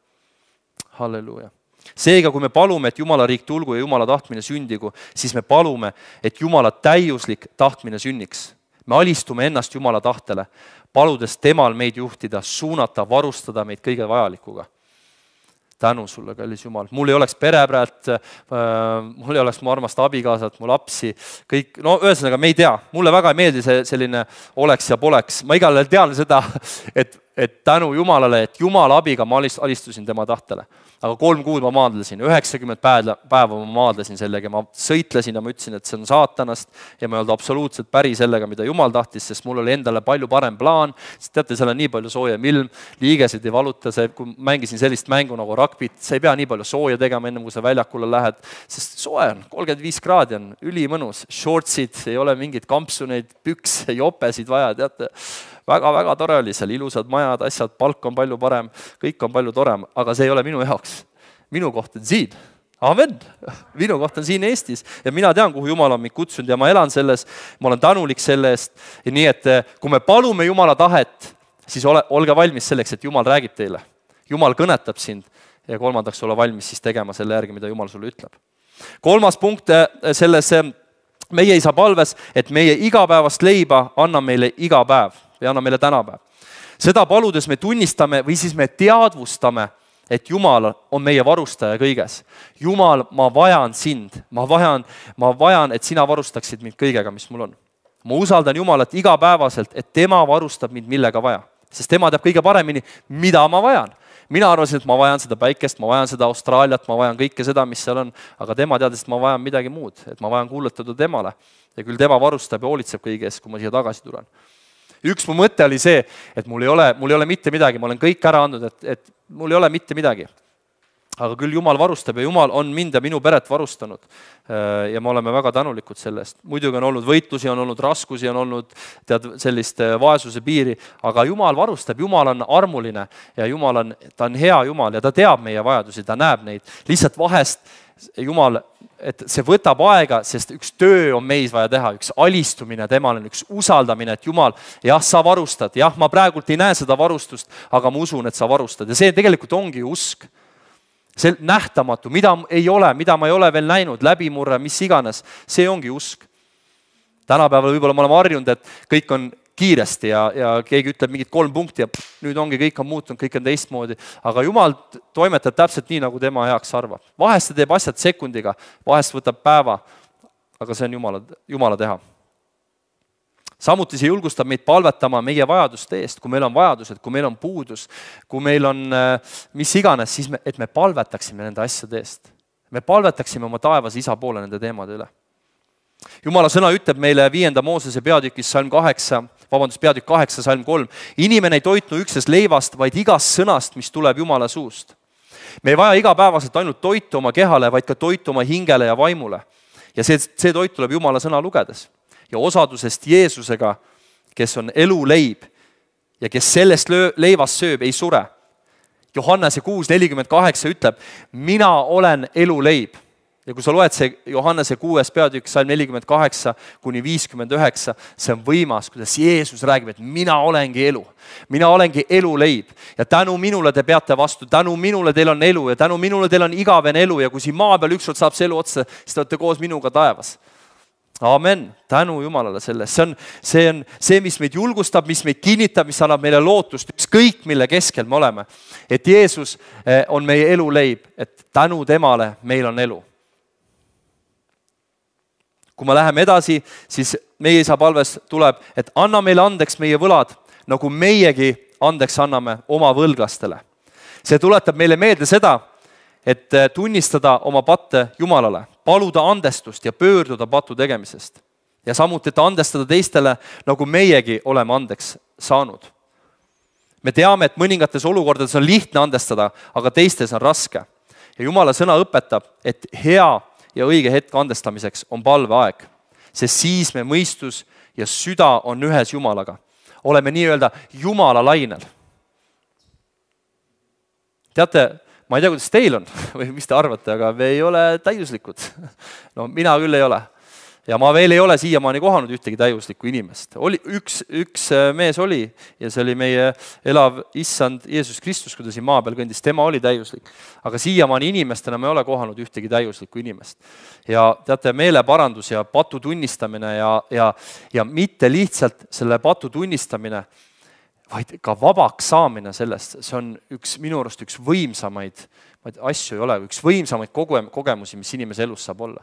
Halleluuja. Seega, kui me palume, et Jumala riik tulgu ja Jumala tahtmine sündigu, siis me palume, et Jumala täiuslik tahtmine sünniks. Me alistume ennast Jumala tahtele, paludes temal meid juhtida, suunata, varustada meid kõige vajalikuga. Tänu sulle, kallis Jumal. Mul ei oleks perepäät, mul ei oleks mu armast abikaasat, mu lapsi, kõik, no ühesõnaga me ei tea. Mulle väga ei meeldi see selline oleks ja poleks. Ma igal tean seda, et, et tänu Jumalale, et Jumala abiga ma alistusin tema tahtele. Aga kolm kuud ma maadlesin, üheksakümmend päeva ma maadlesin sellega, ma sõitlesin ja ma ütlesin, et see on saatanast ja ma ei olnud absoluutselt päri sellega, mida Jumal tahtis, sest mul oli endale palju parem plaan, sest teate, seal on nii palju soojem ilm, liigesid ei valuta, see, kui mängisin sellist mängu nagu rugbit, sa ei pea nii palju sooja tegema enne, kui sa väljakule lähed, sest soe on, kolmkümmend viis kraadi on ülimõnus, shortsid, ei ole mingid kampsuneid, pükse, jopesid vaja, teate, väga-väga tore oli seal, ilusad majad, asjad, palk on palju parem, kõik on palju torem, aga see ei ole minu jaoks. Minu koht on siin. Amen. Minu koht on siin Eestis ja mina tean, kuhu Jumal on mind kutsunud ja ma elan selles, ma olen tänulik selle eest. Ja nii, et kui me palume Jumala tahet, siis ole, olge valmis selleks, et Jumal räägib teile. Jumal kõnetab sind ja kolmandaks ole valmis siis tegema selle järgi, mida Jumal sulle ütleb. Kolmas punkt selles meie isa palves, et meie igapäevast leiba anna meile iga päev või anna meile tänapäev. Seda paludes me tunnistame või siis me teadvustame, et Jumal on meie varustaja kõiges. Jumal, ma vajan sind, ma vajan, ma vajan, et sina varustaksid mind kõigega, mis mul on. ma usaldan Jumalat igapäevaselt, et tema varustab mind millega vaja. Sest tema teab kõige paremini, mida ma vajan. Mina arvasin, et ma vajan seda päikest, ma vajan seda Austraaliat, ma vajan kõike seda, mis seal on, aga tema teadis, et ma vajan midagi muud, et ma vajan kuuletada temale. Ja küll tema varustab ja hoolitseb kõiges, kui ma siia tagasi tulen. Üks mu mõte oli see, et mul ei ole, mul ei ole mitte midagi, ma olen kõik ära andnud, et, et mul ei ole mitte midagi. Aga küll Jumal varustab ja Jumal on mind ja minu peret varustanud. Ja me oleme väga tänulikud sellest. Muidugi on olnud võitlusi, on olnud raskusi, on olnud tead, sellist vaesuse piiri, aga Jumal varustab, Jumal on armuline ja Jumal on, ta on hea Jumal ja ta teab meie vajadusi, ta näeb neid. Lihtsalt vahest Jumal, et see võtab aega, sest üks töö on meis vaja teha, üks alistumine temale, üks usaldamine, et Jumal, jah, sa varustad, jah, ma praegult ei näe seda varustust, aga ma usun, et sa varustad ja see tegelikult ongi usk. See nähtamatu, mida ei ole, mida ma ei ole veel näinud, läbimurre, mis iganes, see ongi usk. Tänapäeval võib-olla ma olen harjunud, et kõik on kiiresti ja, ja keegi ütleb mingid kolm punkti ja nüüd ongi, kõik on muutunud, kõik on teistmoodi. Aga Jumal toimetab täpselt nii, nagu tema heaks arvab. Vahest ta teeb asjad sekundiga, vahest võtab päeva, aga see on Jumala, Jumala teha. Samuti see julgustab meid palvetama meie vajaduste eest, kui meil on vajadused, kui meil on puudus, kui meil on mis iganes, siis me, et me palvetaksime nende asjade eest. Me palvetaksime oma taevas isa poole nende teemade üle. Jumala sõna ütleb meile viienda Moosese peatükis salm kaheksa, vabandust, peatükk kaheksa, salm kolm. Inimene ei toitnu üksnes leivast, vaid igast sõnast, mis tuleb Jumala suust. Me ei vaja igapäevaselt ainult toitu oma kehale, vaid ka toitu oma hingele ja vaimule. Ja see, see toit tuleb Jumala sõna lugedes. Ja osadusest Jeesusega, kes on elu leib ja kes sellest leivast sööb, ei sure. Johannese kuus nelikümmend kaheksa ütleb, mina olen elu leib. Ja kui sa loed see Johannese kuues peatükk, salm nelikümmend kaheksa kuni viiskümmend üheksa, see on võimas, kuidas Jeesus räägib, et mina olengi elu. Mina olengi elu leib ja tänu minule te peate vastu, tänu minule teil on elu ja tänu minule teil on igavene elu ja kui siin maa peal ükskord saab see elu otsa, siis te olete koos minuga taevas. Amen, tänu Jumalale sellest. See on, see on see, mis meid julgustab, mis meid kinnitab, mis annab meile lootust, ükskõik mille keskel me oleme. Et Jeesus on meie elu leib, et tänu temale meil on elu. Kui me läheme edasi, siis meie isa palves tuleb, et anna meile andeks meie võlad, nagu meiegi andeks anname oma võlglastele. See tuletab meile meelde seda, et tunnistada oma patte Jumalale, paluda andestust ja pöörduda patu tegemisest. Ja samuti, et andestada teistele, nagu meiegi oleme andeks saanud. Me teame, et mõningates olukordades on lihtne andestada, aga teistes on raske. Ja Jumala sõna õpetab, et hea ja õige hetk andestamiseks on palveaeg, sest siis me mõistus ja süda on ühes Jumalaga. Oleme nii-öelda Jumala lainel. Teate, ma ei tea, kuidas teil on või mis te arvate, aga me ei ole täiuslikud. No mina küll ei ole. Ja ma veel ei ole siiamaani kohanud ühtegi täiuslikku inimest. Oli, üks, üks mees oli ja see oli meie elav issand Jeesus Kristus, kui ta siin maa peal kõndis. Tema oli täiuslik. Aga siiamaani inimestena me ei ole kohanud ühtegi täiuslikku inimest. Ja teate, meeleparandus ja patu tunnistamine ja, ja, ja mitte lihtsalt selle patu tunnistamine, vaid ka vabaks saamine sellest, see on üks, minu arust üks võimsamaid, asju ei ole, üks võimsamaid kogemusi, mis inimese elus saab olla.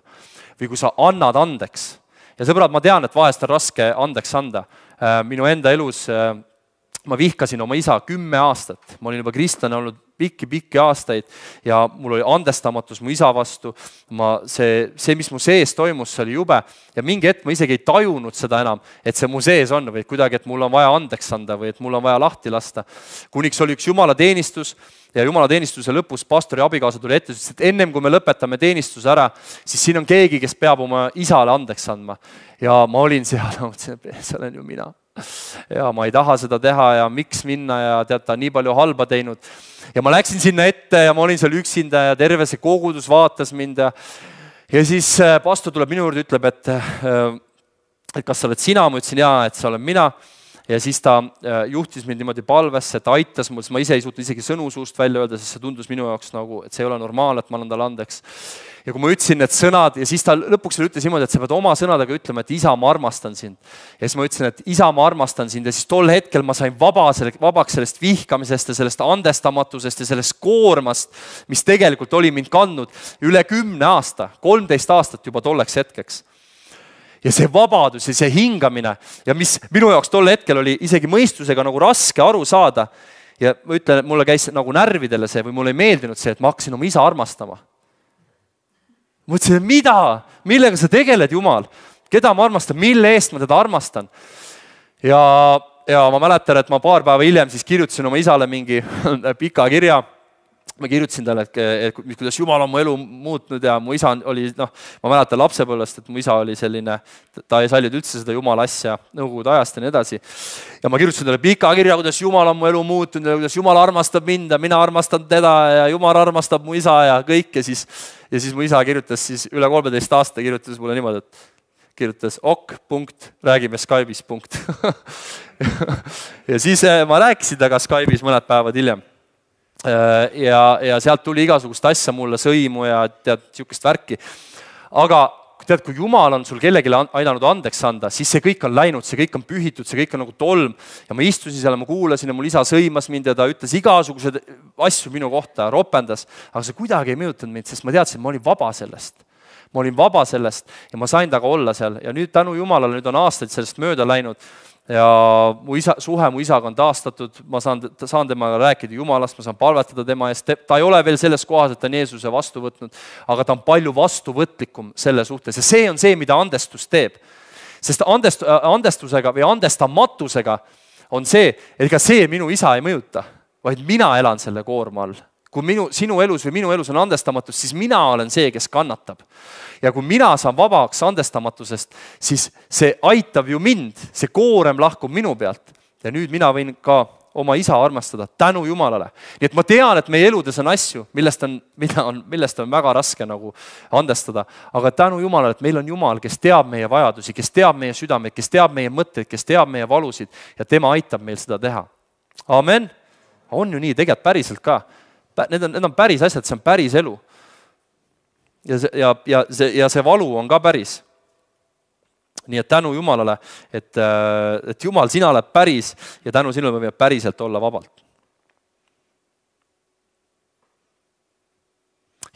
Või kui sa annad andeks. Ja sõbrad, ma tean, et vahest on raske andeks anda. Minu enda elus ma vihkasin oma isa kümme aastat. Ma olin juba kristlane olnud pikki-pikki aastaid ja mul oli andestamatus mu isa vastu. Ma, see, see, mis mu sees toimus, see oli jube. Ja mingi hetk ma isegi ei tajunud seda enam, et see mu sees on või kuidagi, et mul on vaja andeks anda või et mul on vaja lahti lasta. Kuniks oli üks Jumala teenistus ja Jumala teenistuse lõpus pastori abikaasa tuli ette, et ennem kui me lõpetame teenistuse ära, siis siin on keegi, kes peab oma isale andeks andma. Ja ma olin seal, mõtlesin, et see olen ju mina. Ja ma ei taha seda teha ja miks minna ja tead, ta nii palju halba teinud. Ja ma läksin sinna ette ja ma olin seal üksinda ja terve see kogudus vaatas mind ja, ja siis pastor tuleb minu juurde, ütleb, et, et kas sa oled sina, ma ütlesin jaa, et sa olen mina. Ja siis ta juhtis mind niimoodi palvesse, ta aitas mul, ma ise ei suutnud isegi sõnu suust välja öelda, sest see tundus minu jaoks nagu, et see ei ole normaalne, et ma olen talle andeks. Ja kui ma ütlesin need sõnad ja siis ta lõpuks veel ütles niimoodi, et sa pead oma sõnadega ütlema, et isa, ma armastan sind. Ja siis ma ütlesin, et isa, ma armastan sind ja siis tol hetkel ma sain vaba, vabaks sellest vihkamisest ja sellest andestamatusest ja sellest koormast, mis tegelikult oli mind kandnud üle kümne aasta, kolmteist aastat juba tolleks hetkeks. ja see vabadus ja see hingamine ja mis minu jaoks tol hetkel oli isegi mõistusega nagu raske aru saada. Ja ma ütlen, et mulle käis nagu närvidele see või mulle ei meeldinud see, et ma hakkasin oma isa armastama. Mõtlesin, et mida? Millega sa tegeled, Jumal? Keda ma armastan? Mille eest ma teda armastan? Ja, ja ma mäletan, et ma paar päeva hiljem siis kirjutasin oma isale mingi pika kirja. Ma kirjutasin talle, et, et kuidas Jumal on mu elu muutnud ja mu isa oli, noh, ma mäletan lapsepõlvest, et mu isa oli selline, ta ei sallinud üldse seda Jumala asja nõukogude ajast ja nii edasi. Ja ma kirjutasin talle pika kirja, kuidas Jumal on mu elu muutunud ja kuidas Jumal armastab mind ja mina armastan teda ja Jumal armastab mu isa ja kõik. Ja siis, ja siis mu isa kirjutas siis üle kolmeteist aasta kirjutas mulle niimoodi, et kirjutas ok, punkt, räägime Skype'is, punkt. Ja siis ma rääkisin taga Skype'is mõned päevad hiljem. Ja, ja sealt tuli igasugust asja mulle, sõimu ja tead, siukest värki. Aga tead, kui Jumal on sul kellegile aidanud andeks anda, siis see kõik on läinud, see kõik on pühitud, see kõik on nagu tolm. Ja ma istusin seal, ma kuulasin ja mul isa sõimas mind ja ta ütles igasugused asju minu kohta, ropendas. Aga see kuidagi ei mõjutanud mind, sest ma teadsin, et ma olin vaba sellest. Ma olin vaba sellest ja ma sain taga olla seal. Ja nüüd tänu Jumalale, nüüd on aastaid sellest mööda läinud. Ja mu isa, suhe mu isaga on taastatud, ma saan, saan temaga rääkida Jumalast, ma saan palvetada tema eest. Ta ei ole veel selles kohas, et ta on Jeesuse vastu võtnud, aga ta on palju vastuvõtlikum selle suhtes. Ja see on see, mida andestus teeb. Sest andest, andestusega või andestamatusega on see, et ega see minu isa ei mõjuta, vaid mina elan selle koorma all. Kui minu, sinu elus või minu elus on andestamatus, siis mina olen see, kes kannatab. Ja kui mina saan vabaks andestamatusest, siis see aitab ju mind, see koorem lahkub minu pealt. Ja nüüd mina võin ka oma isa armastada tänu Jumalale. Nii et ma tean, et meie eludes on asju, millest on, on, millest on väga raske nagu andestada. Aga tänu Jumalale, et meil on Jumal, kes teab meie vajadusi, kes teab meie südameid, kes teab meie mõtteid, kes teab meie valusid ja tema aitab meil seda teha. Amen. On ju nii, tegelikult päriselt ka. Need on, need on päris asjad, see on päris elu. Ja see, ja, ja, see, ja see valu on ka päris. Nii et tänu Jumalale, et, et Jumal, sina oled päris ja tänu sinule me võime päriselt olla vabalt.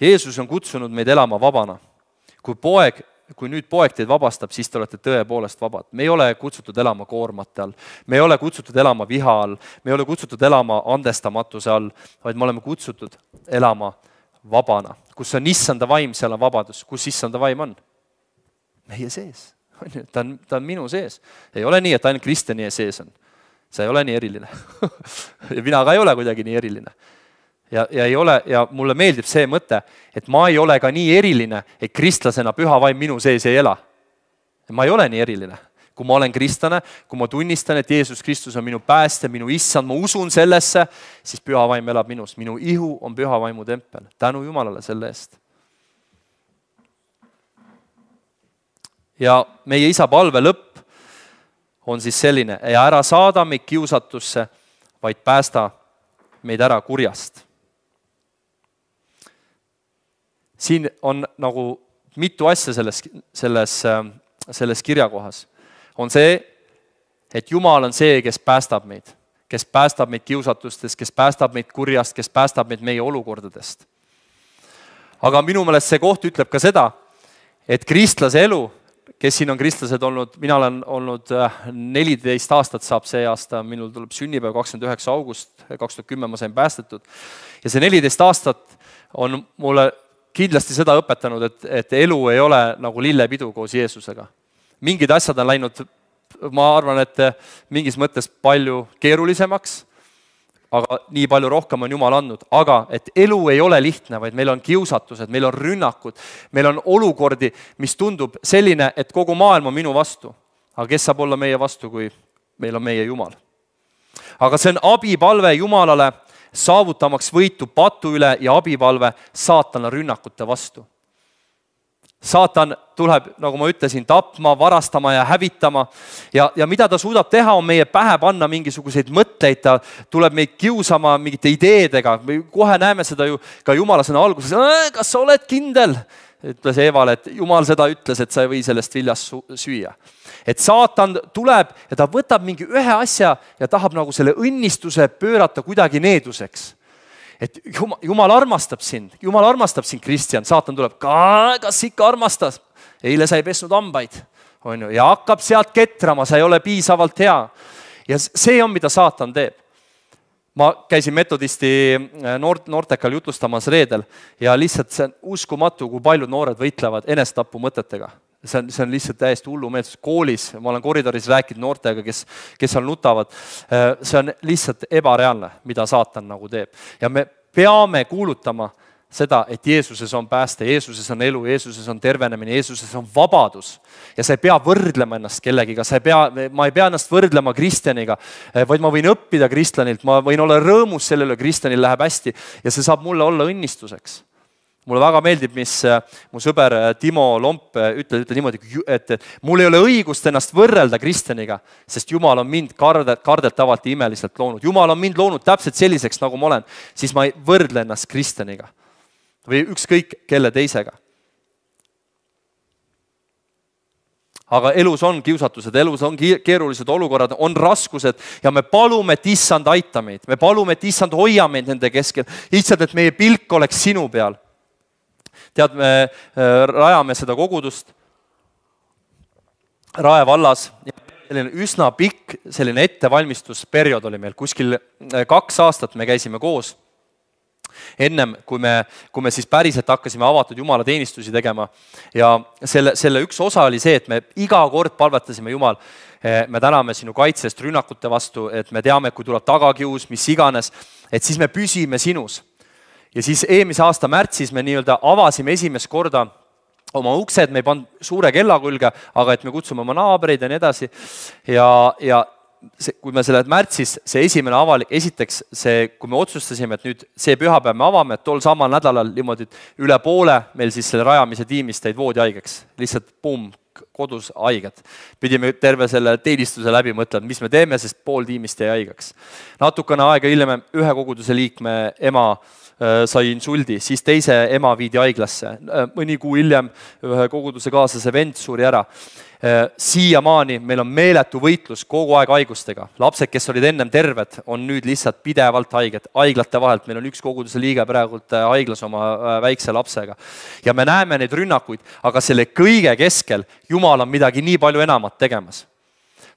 Jeesus on kutsunud meid elama vabana. Kui poeg Kui nüüd poeg teid vabastab, siis te olete tõepoolest vabad. Me ei ole kutsutud elama koormate all, me ei ole kutsutud elama viha all, me ei ole kutsutud elama andestamatuse all, vaid me oleme kutsutud elama vabana. Kus on issanda vaim, seal on vabadus. Kus issanda vaim on? Meie sees. Ta on, ta on minu sees. Ei ole nii, et ainult Kristjani sees on. See ei ole nii eriline. Ja mina ka ei ole kuidagi nii eriline. Ja, ja, ei ole, ja mulle meeldib see mõte, et ma ei ole ka nii eriline, et kristlasena püha vaim minu sees ei ela. Ma ei ole nii eriline. Kui ma olen kristlane, kui ma tunnistan, et Jeesus Kristus on minu pääste, minu issand, ma usun sellesse, siis püha vaim elab minus. Minu ihu on püha vaimu tempel. Tänu Jumalale selle eest. Ja meie isa palve lõpp on siis selline, ja ära saada meid kiusatusse, vaid päästa meid ära kurjast. Siin on nagu mitu asja selles, selles, selles kirjakohas. On see, et Jumal on see, kes päästab meid, kes päästab meid kiusatustest, kes päästab meid kurjast, kes päästab meid meie olukordadest. Aga minu meelest see koht ütleb ka seda, et kristlase elu, kes siin on kristlased olnud, mina olen olnud neliteist aastat saab see aasta, minul tuleb sünnipäev kakskümmend üheksa august, kaks tuhat kümme ma sain päästetud. Ja see neliteist aastat on mulle kindlasti seda õpetanud, et, et elu ei ole nagu lillepidu koos Jeesusega. Mingid asjad on läinud, ma arvan, et mingis mõttes palju keerulisemaks, aga nii palju rohkem on Jumal andnud. Aga et elu ei ole lihtne, vaid meil on kiusatused, meil on rünnakud, meil on olukordi, mis tundub selline, et kogu maailm on minu vastu. Aga kes saab olla meie vastu, kui meil on meie Jumal? Aga see on abipalve Jumalale, saavutamaks võitu patu üle ja abipalve saatana rünnakute vastu. Saatan tuleb, nagu ma ütlesin, tapma, varastama ja hävitama ja, ja mida ta suudab teha, on meie pähe panna mingisuguseid mõtteid, ta tuleb meid kiusama mingite ideedega. Kohe näeme seda ju ka Jumala sõna alguses, kas sa oled kindel? Ütles Eevale, et Jumal seda ütles, et sa ei või sellest viljast süüa. Et saatan tuleb ja ta võtab mingi ühe asja ja tahab nagu selle õnnistuse pöörata kuidagi needuseks. Et Jumal, Jumal armastab sind, Jumal armastab sind, Kristjan, saatan tuleb, kas ikka armastas? Eile sa ei pesnud hambaid. on ju, ja hakkab sealt ketrama, sa ei ole piisavalt hea. Ja see on, mida saatan teeb. Ma käisin metodisti noort, noortekal jutlustamas reedel ja lihtsalt see on uskumatu, kui paljud noored võitlevad enestapu mõtetega. See on, see on lihtsalt täiesti hullumeelsus. Koolis, ma olen koridoris rääkinud noortega, kes, kes seal nutavad. See on lihtsalt ebareaalne, mida saatan nagu teeb. Ja me peame kuulutama seda, et Jeesuses on pääste, Jeesuses on elu, Jeesuses on tervenemine, Jeesuses on vabadus. Ja sa ei pea võrdlema ennast kellegiga, sa ei pea, ma ei pea ennast võrdlema kristjaniga, vaid ma võin õppida kristlanilt, ma võin olla rõõmus sellele, kristjanil läheb hästi ja see saab mulle olla õnnistuseks. Mulle väga meeldib, mis mu sõber Timo Lomp ütleb, ütleb niimoodi, et mul ei ole õigust ennast võrrelda kristjaniga, sest Jumal on mind kardet, kardetavalt ja imeliselt loonud. Jumal on mind loonud täpselt selliseks, nagu ma olen, siis ma ei võrdle ennast kristjaniga või ükskõik kelle teisega. Aga elus on kiusatused, elus on keerulised olukorrad, on raskused ja me palume, et issand aita meid. Me palume, et issand hoia meid nende keskel. Issand, et meie pilk oleks sinu peal. Tead, me rajame seda kogudust Rae vallas. Selline üsna pikk selline ettevalmistusperiood oli meil. Kuskil kaks aastat me käisime koos. Ennem, kui me, kui me siis päriselt hakkasime avatud Jumala teenistusi tegema ja selle, selle üks osa oli see, et me iga kord palvetasime Jumal, me täname sinu kaitsest rünnakute vastu, et me teame, kui tuleb tagakius, mis iganes, et siis me püsime sinus. Ja siis eelmise aasta märtsis me nii-öelda avasime esimest korda oma uksed, me ei pannud suure kella külge, aga et me kutsume oma naabreid ja nii edasi ja, ja See, kui me selle märtsis, see esimene avalik, esiteks see, kui me otsustasime, et nüüd see pühapäev me avame, et tol samal nädalal niimoodi üle poole meil siis selle rajamise tiimist teid voodi haigeks. Lihtsalt pum, kodus haiged. Pidime terve selle teenistuse läbi mõtlema, mis me teeme, sest pool tiimist jäi haigeks. Natukene aega hiljem ühe koguduse liikme ema sai insuldi, siis teise ema viidi haiglasse. Mõni kuu hiljem ühe koguduse kaaslase vend suri ära. Siiamaani meil on meeletu võitlus kogu aeg haigustega. Lapsed, kes olid ennem terved, on nüüd lihtsalt pidevalt haiged. Haiglate vahelt meil on üks koguduse liige praegult haiglas oma väikse lapsega. Ja me näeme neid rünnakuid, aga selle kõige keskel Jumal on midagi nii palju enamat tegemas.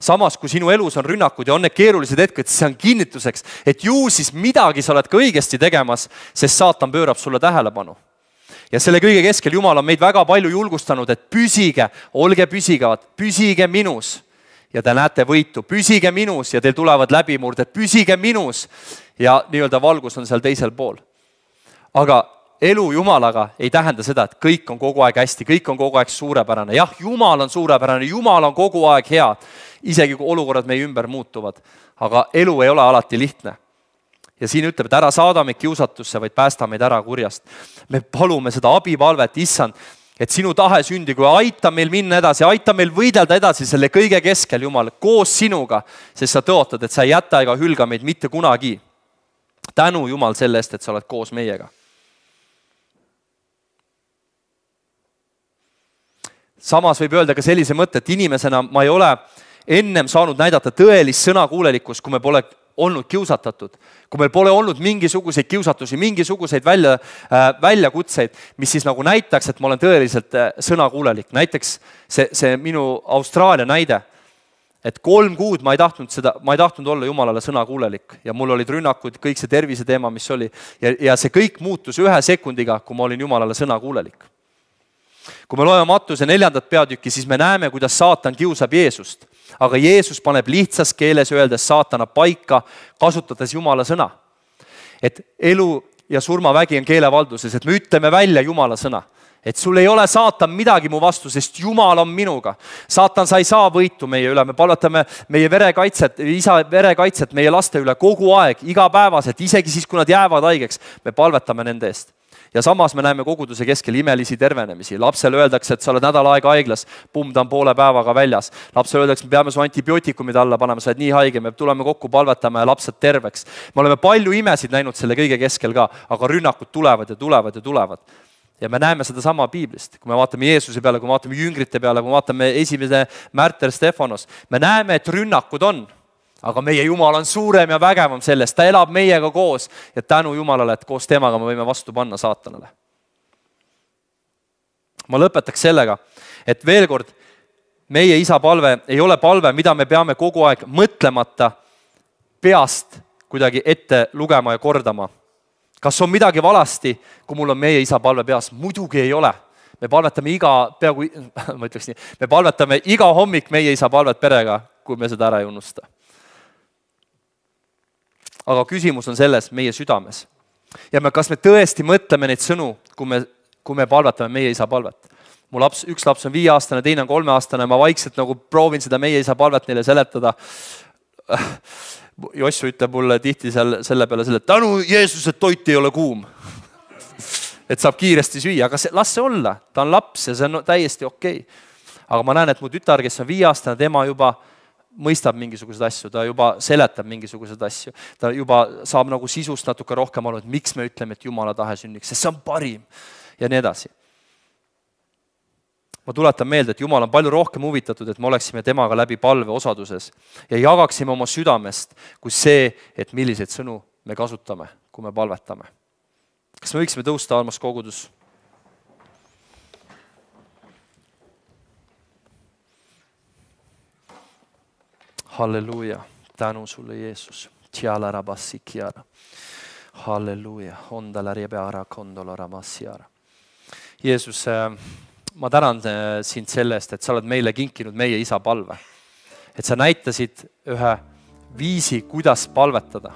Samas, kui sinu elus on rünnakud ja on need keerulised hetked, siis see on kinnituseks, et ju siis midagi sa oled ka õigesti tegemas, sest saatan pöörab sulle tähelepanu. Ja selle kõige keskel Jumal on meid väga palju julgustanud, et püsige, olge püsigavad, püsige minus ja te näete võitu, püsige minus ja teil tulevad läbimurded, püsige minus ja nii-öelda valgus on seal teisel pool. Aga elu Jumalaga ei tähenda seda, et kõik on kogu aeg hästi, kõik on kogu aeg suurepärane. Jah, Jumal on suurepärane, Jumal on kogu aeg hea, isegi kui olukorrad meie ümber muutuvad, aga elu ei ole alati lihtne. Ja siin ütleb, et ära saada meid kiusatusse, vaid päästa meid ära kurjast. Me palume seda abipalvet, issand, et sinu tahe sündi, kui aita meil minna edasi, aita meil võidelda edasi selle kõige keskel, Jumal, koos sinuga, sest sa tõotad, et sa ei jäta ega hülga meid mitte kunagi. Tänu, Jumal, selle eest, et sa oled koos meiega. Samas võib öelda ka sellise mõtte, et inimesena ma ei ole ennem saanud näidata tõelist sõnakuulelikkust, kui me pole olnud kiusatatud, kui meil pole olnud mingisuguseid kiusatusi, mingisuguseid välja, äh, väljakutseid, mis siis nagu näitaks, et ma olen tõeliselt äh, sõnakuulelik. Näiteks see, see minu Austraalia näide, et kolm kuud ma ei tahtnud seda, ma ei tahtnud olla Jumalale sõnakuulelik ja mul olid rünnakud, kõik see tervise teema, mis oli ja, ja see kõik muutus ühe sekundiga, kui ma olin Jumalale sõnakuulelik. Kui me loeme Mattuse neljandat peatükki, siis me näeme, kuidas saatan kiusab Jeesust. Aga Jeesus paneb lihtsas keeles öeldes saatana paika, kasutades Jumala sõna. Et elu ja surmavägi on keelevalduses, et me ütleme välja Jumala sõna. Et sul ei ole saatan midagi mu vastu, sest Jumal on minuga. Saatan, sa ei saa võitu meie üle, me palvetame meie verekaitset, isa verekaitset meie laste üle kogu aeg, igapäevaselt, isegi siis, kui nad jäävad haigeks, me palvetame nende eest. Ja samas me näeme koguduse keskel imelisi tervenemisi. Lapsele öeldakse, et sa oled nädal aega haiglas, pumm, ta on poole päevaga väljas. Lapsele öeldakse, me peame su antibiootikumid alla panema, sa oled nii haige, me tuleme kokku, palvetame ja lapsed terveks. Me oleme palju imesid näinud selle kõige keskel ka, aga rünnakud tulevad ja tulevad ja tulevad. Ja me näeme seda sama Piiblist. Kui me vaatame Jeesuse peale, kui me vaatame jüngrite peale, kui me vaatame esimese Märter Stefanos, me näeme, et rünnakud on. Aga meie Jumal on suurem ja vägevam sellest, ta elab meiega koos ja tänu Jumalale, et koos temaga me võime vastu panna saatanale. Ma lõpetaks sellega, et veel kord, meie isa palve ei ole palve, mida me peame kogu aeg mõtlemata peast kuidagi ette lugema ja kordama. Kas on midagi valasti, kui mul on meie isa palve peas? Muidugi ei ole. Me palvetame iga, peaaegu, ma ütleks nii, me palvetame iga hommik meie isa palvet perega, kui me seda ära ei unusta. Aga küsimus on selles meie südames. Ja me, kas me tõesti mõtleme neid sõnu, kui me, kui me palvetame meie isa palvet? Mu laps, üks laps on viieaastane, teine on kolmeaastane, ma vaikselt nagu proovin seda meie isa palvet neile seletada. Jossu ütleb mulle tihti seal, selle peale selle, et tänu Jeesus, et toit ei ole kuum. Et saab kiiresti süüa, aga see, las see olla. Ta on laps ja see on täiesti okei. Aga ma näen, et mu tütar, kes on viieaastane, tema juba mõistab mingisugused asju, ta juba seletab mingisugused asju. Ta juba saab nagu sisust natuke rohkem aru, et miks me ütleme, et Jumala tahe sünniks, sest see on parim ja nii edasi. Ma tuletan meelde, et Jumal on palju rohkem huvitatud, et me oleksime temaga läbi palve osaduses ja jagaksime oma südamest kui see, et milliseid sõnu me kasutame, kui me palvetame. Kas me võiksime tõusta, armas kogudus? Halleluja, tänu sulle, Jeesus. Tiala rabassi kiara. Halleluja, ondala ribeara kondola ramassiara. Jeesus, ma tänan sind selle eest, et sa oled meile kinkinud meie isa palve. Et sa näitasid ühe viisi, kuidas palvetada.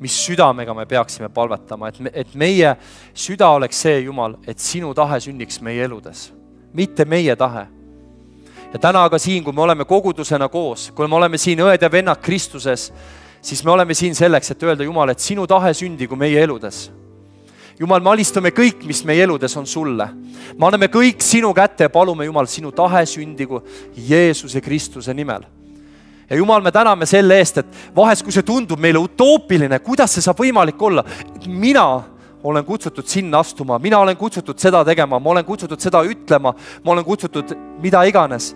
Mis südamega me peaksime palvetama, et, me, et meie süda oleks see, Jumal, et sinu tahe sünniks meie eludes, mitte meie tahe. Ja täna aga siin, kui me oleme kogudusena koos, kui me oleme siin õed ja vennad Kristuses, siis me oleme siin selleks, et öelda, Jumal, et sinu tahe sündigu meie eludes. Jumal, me alistume kõik, mis meie eludes on sulle. Me anname kõik sinu kätte ja palume, Jumal, sinu tahe sündigu Jeesuse Kristuse nimel. Ja Jumal, me täname selle eest, et vahest, kui see tundub meile utoopiline, kuidas see saab võimalik olla? Mina olen kutsutud sinna astuma, mina olen kutsutud seda tegema, ma olen kutsutud seda ütlema, ma olen kutsutud mida iganes.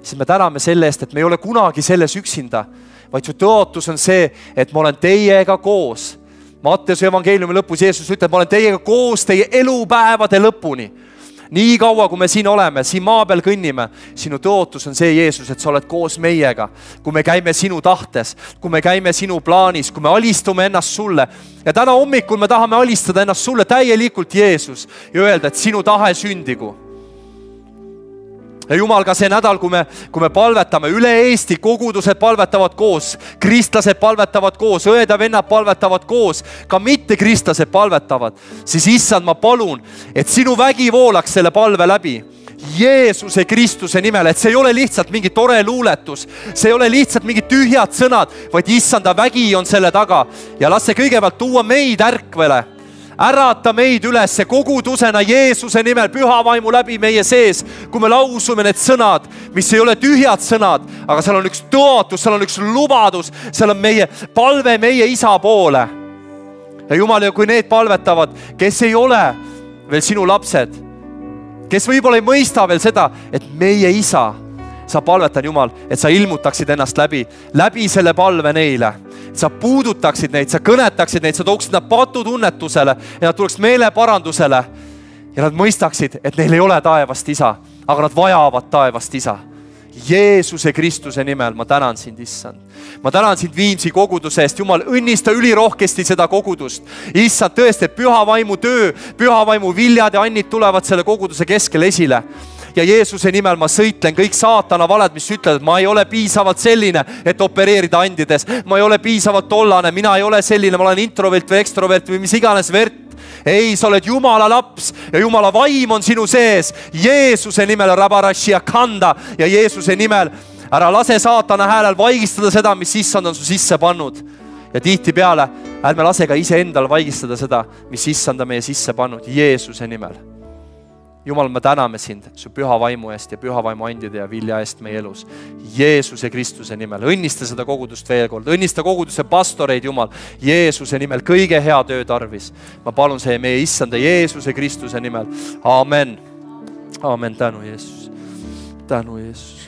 Siis me täname selle eest, et me ei ole kunagi selles üksinda, vaid su tõotus on see, et ma olen teiega koos. Matteuse evangeeliumi lõpus Jeesus ütleb, ma olen teiega koos teie elupäevade lõpuni. Nii kaua, kui me siin oleme, siin maa peal kõnnime, sinu tõotus on see, Jeesus, et sa oled koos meiega, kui me käime sinu tahtes, kui me käime sinu plaanis, kui me alistume ennast sulle. Ja täna hommikul me tahame alistada ennast sulle täielikult, Jeesus, ja öelda, et sinu tahe sündigu. Ja Jumal, ka see nädal, kui me, kui me palvetame, üle Eesti kogudused palvetavad koos, kristlased palvetavad koos, õed ja vennad palvetavad koos, ka mitte kristlased palvetavad, siis issand, ma palun, et sinu vägi voolaks selle palve läbi. Jeesuse Kristuse nimel, et see ei ole lihtsalt mingi tore luuletus, see ei ole lihtsalt mingid tühjad sõnad, vaid issanda vägi on selle taga ja las see kõigepealt tuua meid ärkvele. Ärata meid üles kogudusena Jeesuse nimel püha vaimu läbi meie sees, kui me lausume need sõnad, mis ei ole tühjad sõnad, aga seal on üks tõotus, seal on üks lubadus, seal on meie palve meie isa poole. Ja Jumal, ja kui need palvetavad, kes ei ole veel sinu lapsed, kes võib-olla ei mõista veel seda, et meie isa, sa palvetan, Jumal, et sa ilmutaksid ennast läbi, läbi selle palve neile. Sa puudutaksid neid, sa kõnetaksid neid, sa tooksid nad patutunnetusele ja nad tuleks meeleparandusele ja nad mõistaksid, et neil ei ole taevast isa, aga nad vajavad taevast isa. Jeesuse Kristuse nimel ma tänan sind, issand. Ma tänan sind Viimsi koguduse eest. Jumal, õnnista ülirohkesti seda kogudust. Issand, tõesti, et püha vaimu töö, püha vaimu viljad ja annid tulevad selle koguduse keskel esile. Ja Jeesuse nimel ma sõitlen kõik saatana valed, mis ütlevad, et ma ei ole piisavalt selline, et opereerida andides. Ma ei ole piisavalt tollane, mina ei ole selline, ma olen introvert või ekstrovert või mis iganes vert. Ei, sa oled Jumala laps ja Jumala vaim on sinu sees. Jeesuse nimel rabarashia kanda ja Jeesuse nimel ära lase saatana häälel vaigistada seda, mis issand on su sisse pannud. Ja tihti peale ärme lase ka ise endal vaigistada seda, mis issand on meie sisse pannud. Jeesuse nimel. Jumal, me täname sind su püha vaimu eest ja püha vaimu andide ja vilja eest meie elus. Jeesuse Kristuse nimel. Õnnista seda kogudust veel kord. Õnnista koguduse pastoreid, Jumal. Jeesuse nimel kõige hea töö tarvis. Ma palun see meie issanda Jeesuse Kristuse nimel. Amen. Amen. Tänu, Jeesus. Tänu, Jeesus.